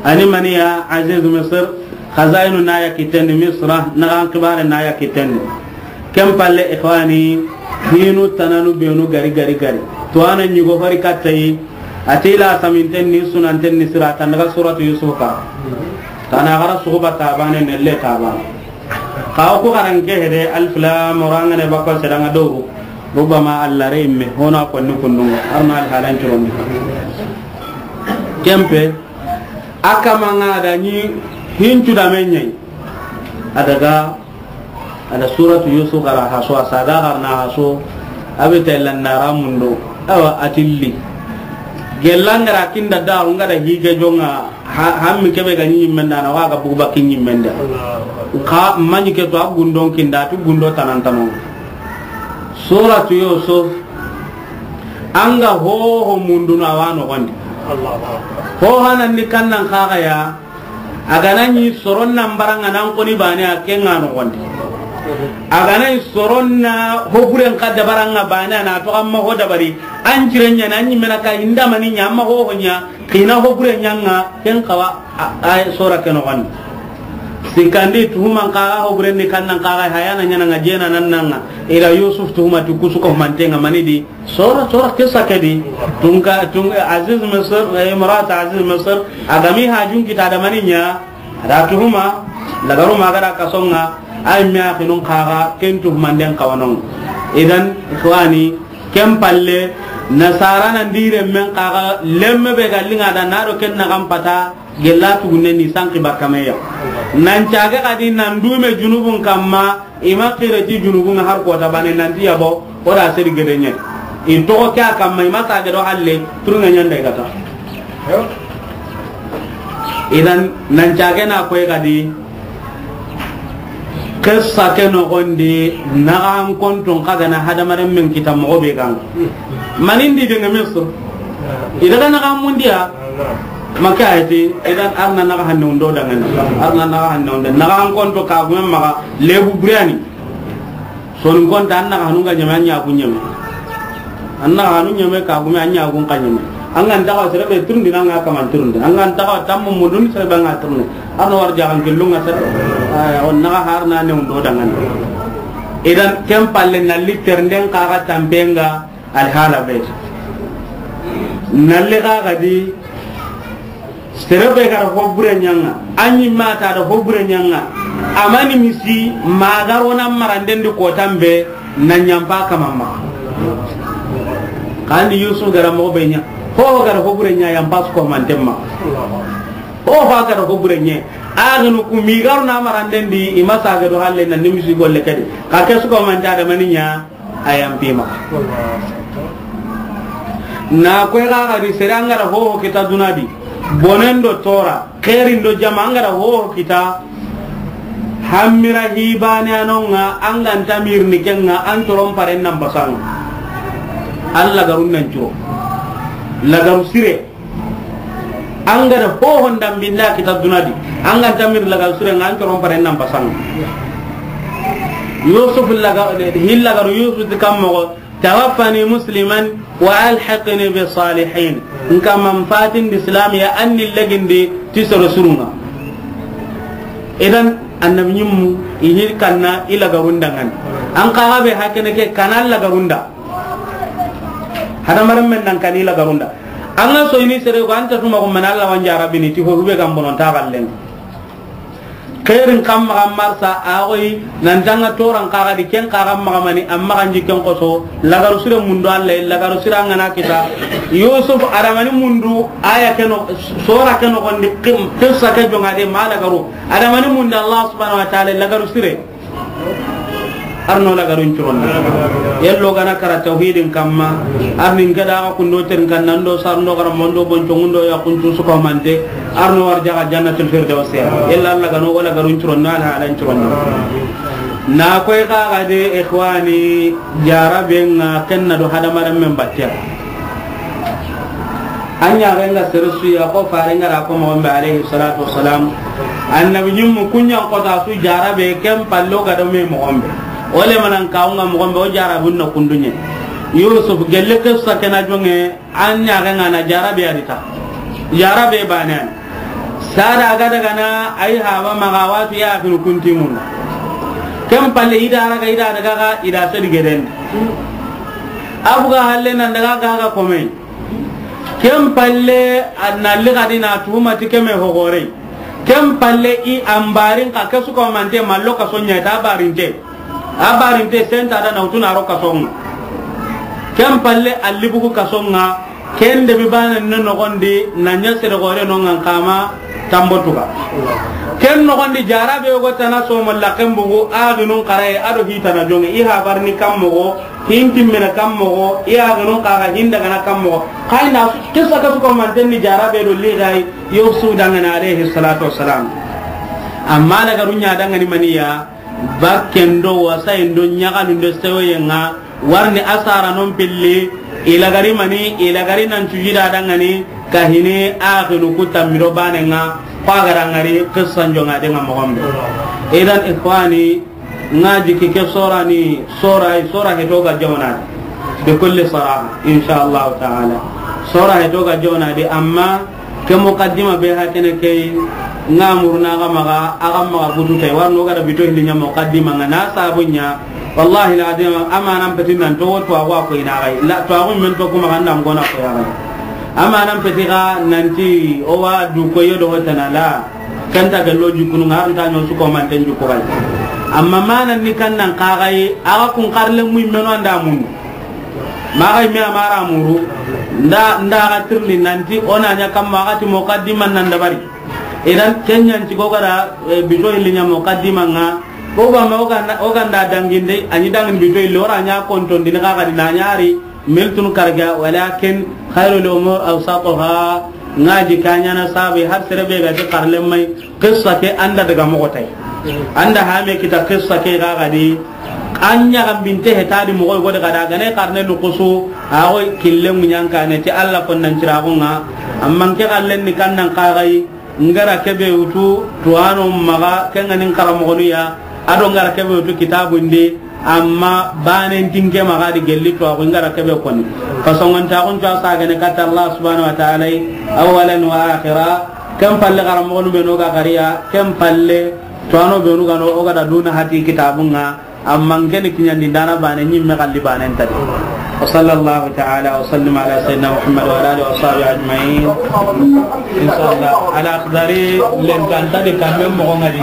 Ani maniya Aziz Misir. Khazayinu na ya kitendi Misra. Nagan kibare na ya kitendi. Ken palle ikhwani. Hinu tananu benu gari gari gari. To ana nyugo fari kattayi. Atila saminten ni sunanten ni sira tan daga suratu Yusuf ka. Tana gara suguba tabane nelle tabane. Kawo ku xaranke hede, alif lam ra, ngane bakko sedanga doru. Rubama Allah re imme hono ko ni kundunga arna al halan curondi. Kempe akamanga da ni hincu da menye. Adaga ada suratu Yusuf gara haso asaga garna haso. Abita illa nara mundo. Awa atilli. Gelangara kinda da ngada hige jonga. Ha, hammi kebe ga ɲimmenda na waga bugu bakki ɲimmenda. Nka maɲi ke to a gundon kinda tu gundo tanantano. Suratu Yusuf anga ho ho mundu na wano gondi. Ho hanan ni kannan kaga ya. Agana ni soron nan baranga nan koni bane a kenga no gondi. Agana ni soron na ho buren ka dabaranga bane na to amma ho dabari. An jirenya na ni mena ka inda mani nya amma ho ho nya. Kina ho bure ɲanga ken kawa a, a sora ke noxon. Sikandi tuhuman kaga ho bure ni kannan kaga hayana ɲana nga jena nan nanga. Ila Yusuf tuhuma tu kusuko mantenga manidi. Sora, sora kesa kedi. Tunka, tunka Aziz Misir, eh, imrat Aziz Misir. Agami hajun kita da maninya. Ada tuhuma. Lagaru magara kasonga. Ay miya kinun kaga ken tuhuman den kawanon. Idan, ikhwani, Ken palle, nasara nan dire men kaga lemme be gallinga da na do ken na kan pata gella tugunne ni sanki bakameya. Nan caga kadi nan dume junubun kamma ima kire ti junubun har ko ta bane nan tiya bo o da seri gedenye. In to ko kya kamma ima sage do halle turunga nyanda gata. Idan nan caga na koy kadi Kissa ke noxondi, naxan konton xa gana hadamaren men kita moxo be ganga. Manindi de nga Misir. I daga naxan mundiya. Maka ayati, idan arna naxa hanne undo dangani. Arna naxa hanne undo. Naxan konto ka gumen maxa lebu burani. Sonin konta an naxa hanunga ɲeme, an ɲagu ɲeme. An naxa hanu ɲeme ka gumen an ɲagun ka ɲeme. An ga nta xawa sere be turundi, an ga kaman turundi. An ga nta xawa tammu mundun, sere be an ga turundi. An na wara jaxan killun ŋa sere. Aya, o na xa har na ne undo dangan. Idan ken palle na li ternden xa ga tampenga alhala be. Na li xa ga di sere be ga ra ho bure ɲa ŋa, a ɲi ma ta da ho bure ɲa ŋa, a ma ni misi ma ga ro na maranden di ko tambe na ɲampa kama ma. Kandi Yusuf ga ra moxo be ɲa, ho ga ra ho bure ɲa, yampa su ko manten ma. Ho ga ra ho bure ɲa, a ga nu ku mi ga ro na maranden di, i ma sa ga do halle na ni misi golle kadi. Ka ke su ko manta da mani ɲa, a yampi ma. Na koy xa ga di sere an ga ra ho kita duna di, bonen do tora, xeerin do jama an ga ra ho kita, hamira hibane anonga an ga nta mirni kenga an toron paren nan basanga. Alla garun nan curo. Lagaru sire. An ga da ho honda binda kita duna di. An ga nta mir lagaru sire nga an toron paren nan basanga. Yusuf laga, hilla garu Yusuf ti kam moxo, "Tawaffani musliman wa alhiqni bis salihin." Nka man fatin di Islam ya anni legindi ti soro surunga. Idan annabi ɲimmu i hir kanna i lagarun dangan. An xa ga be hakene ke kana lagarun da. Hadamaren men nan kan i lagarun da. An ga so ini sere ko anta tuma ko men Alla wan jarabini ti ho be gam bonon ta gallen. Xeerin xa maxa marsa a xoyi nan tanga toran xa ga di ken xa ga maxa mani amma kan jikken xoso lagaru sire mundu Alla lagaru sire an ga na kita Yusuf adamani mundu aya ke no sora ke no gondi qim qissa ke jonga de ma lagaru adamani mundu Allah subhanahu wa ta'ala lagaru sire. Arno lagarun curondi. Yello gana kara tawhidin kamma. Arni ngada ga kundo ter kannan do sarno gara mondo bonco ngundo ya kuncu suko mante. Arno warja ga jannatul firdaus ya. Yella Allah gano wala garun curondi ala ala curondi. Na koy ga ga de ikhwani jarabe nga kenna do hadamaren men battiya. An ɲaxen ga sere su ya ko faren ga ra ko moxon be alayhi salatu wassalam. Annabi ɲimmu kunɲan kota su jarabe ken pallo ga do me moxon be. O le manan kawunga moxon be o jarabun na kundunye. Yusuf gelle qissa kena jonge an ɲaxen ga na jarabe arita. Jarabe banen. Sada ga daga na ay haba maxa watu ya fil kuntimun. Ken palle ida raga ida daga ga ida sedi geden. Abuga halle nan daga ga ga komai. Ken palle a na li gadi na tuhuma ti keme hogorey. Ken palle i ambarin ka kesu ko mante mallo ka sonya ta barinte. A barinte senta da na utuna ro ka songa. Ken palle a libugu ka songa. Ken de bi bana no nogondi na nya sere gore no ngan kama tambotuga. Ken nogondi jarabe go tana so malla ken bugu adunun qaraye ado hitana jonge i habarni kammo go. Hinti mena kammo go, i aganun kaga hinda gana kammo go. Kayna kissa kasu ko mantenni jarabe do ligai Yusuf dangana alayhi salatu wassalam. Amma lagaru ɲa dangani maniya, bakken do wasayin do ɲagalun do sewoyen ŋa, warni asara non pilli, i lagari mani, i lagari nan cujida dangani, kahini axinu ku tammi do banen ŋa, ko a gara ngari qissan jonga de ŋa moxon be. Idan ikhwani, Ŋa jiki ke sorani, sora, sora heto ga jawnadi. Bi kulli saraha, insha Allah ta'ala. Sora heto ga jawnadi, amma ke muqaddima be hakene ke ŋa muruna ga maga, aga maga butu tay, warno ga da bito hindi ɲa muqaddima ŋa na sabu ɲa. Wallahi alazim, amanan petin nan to, to awa ko ina gai. La, to agun men to kuma ganda ngona ko ya gai. Amanan peti ga nanti o wa du ko yodo hotana la. Kanta ga loji kunu ŋa anta nyon su ko manten ju ko gai. Amma manan ni kan nan kagai, aga kun karle mu meno anda mun. Magai me amara muru. Nda, nda ga tirni nanti ona nya kam maga ti muqaddiman nan dabari. Idan kenyan ti ko gara, eh, bito hilli nya muqaddima ŋa. Ko ba ma o ganda, o ganda danginde, ani dangin bito hilli ora nya konton din ga ga di na nyari. Miltun karga, walakin khairul umur awsatuha. Ngaji kanyana sabi har serebe ga ti karle mai. Qissa ke anda daga moxo tay. Anda hame kita qissa ke ga gadi. Anya gambinte he tadi moxo go daga daga ne karne nukusu. Awo kille munyanka ne ti Allah kon nan ciragunga. Amman ke kallen ni kannan kagai. Ngara kebe wutu, tuwano maga, kenganin karamoxonu ya, ado ngara kebe wutu kitabundi, Amma banen tinke maxa di gelli to, a ko in ga ra kebe koni. Fasongon ta kun ta sa gane katta Allah subhanahu wa ta'ala, awwalan wa akhira. Ken palle, xaranmoxonu benu ga xariya, ken palle, to ano benu ga no, o ga da duna hati kitabun ŋa. Amma n ke ni kiɲandi n da na bane ɲimme xalli banen ta di. Wa sallallahu ta'ala wa sallim ala sayyidina Muhammad wa ala alihi wa sahbihi ajma'in. Inshallah, Al-Akhdari len kan ta di kamme moxo ŋa di.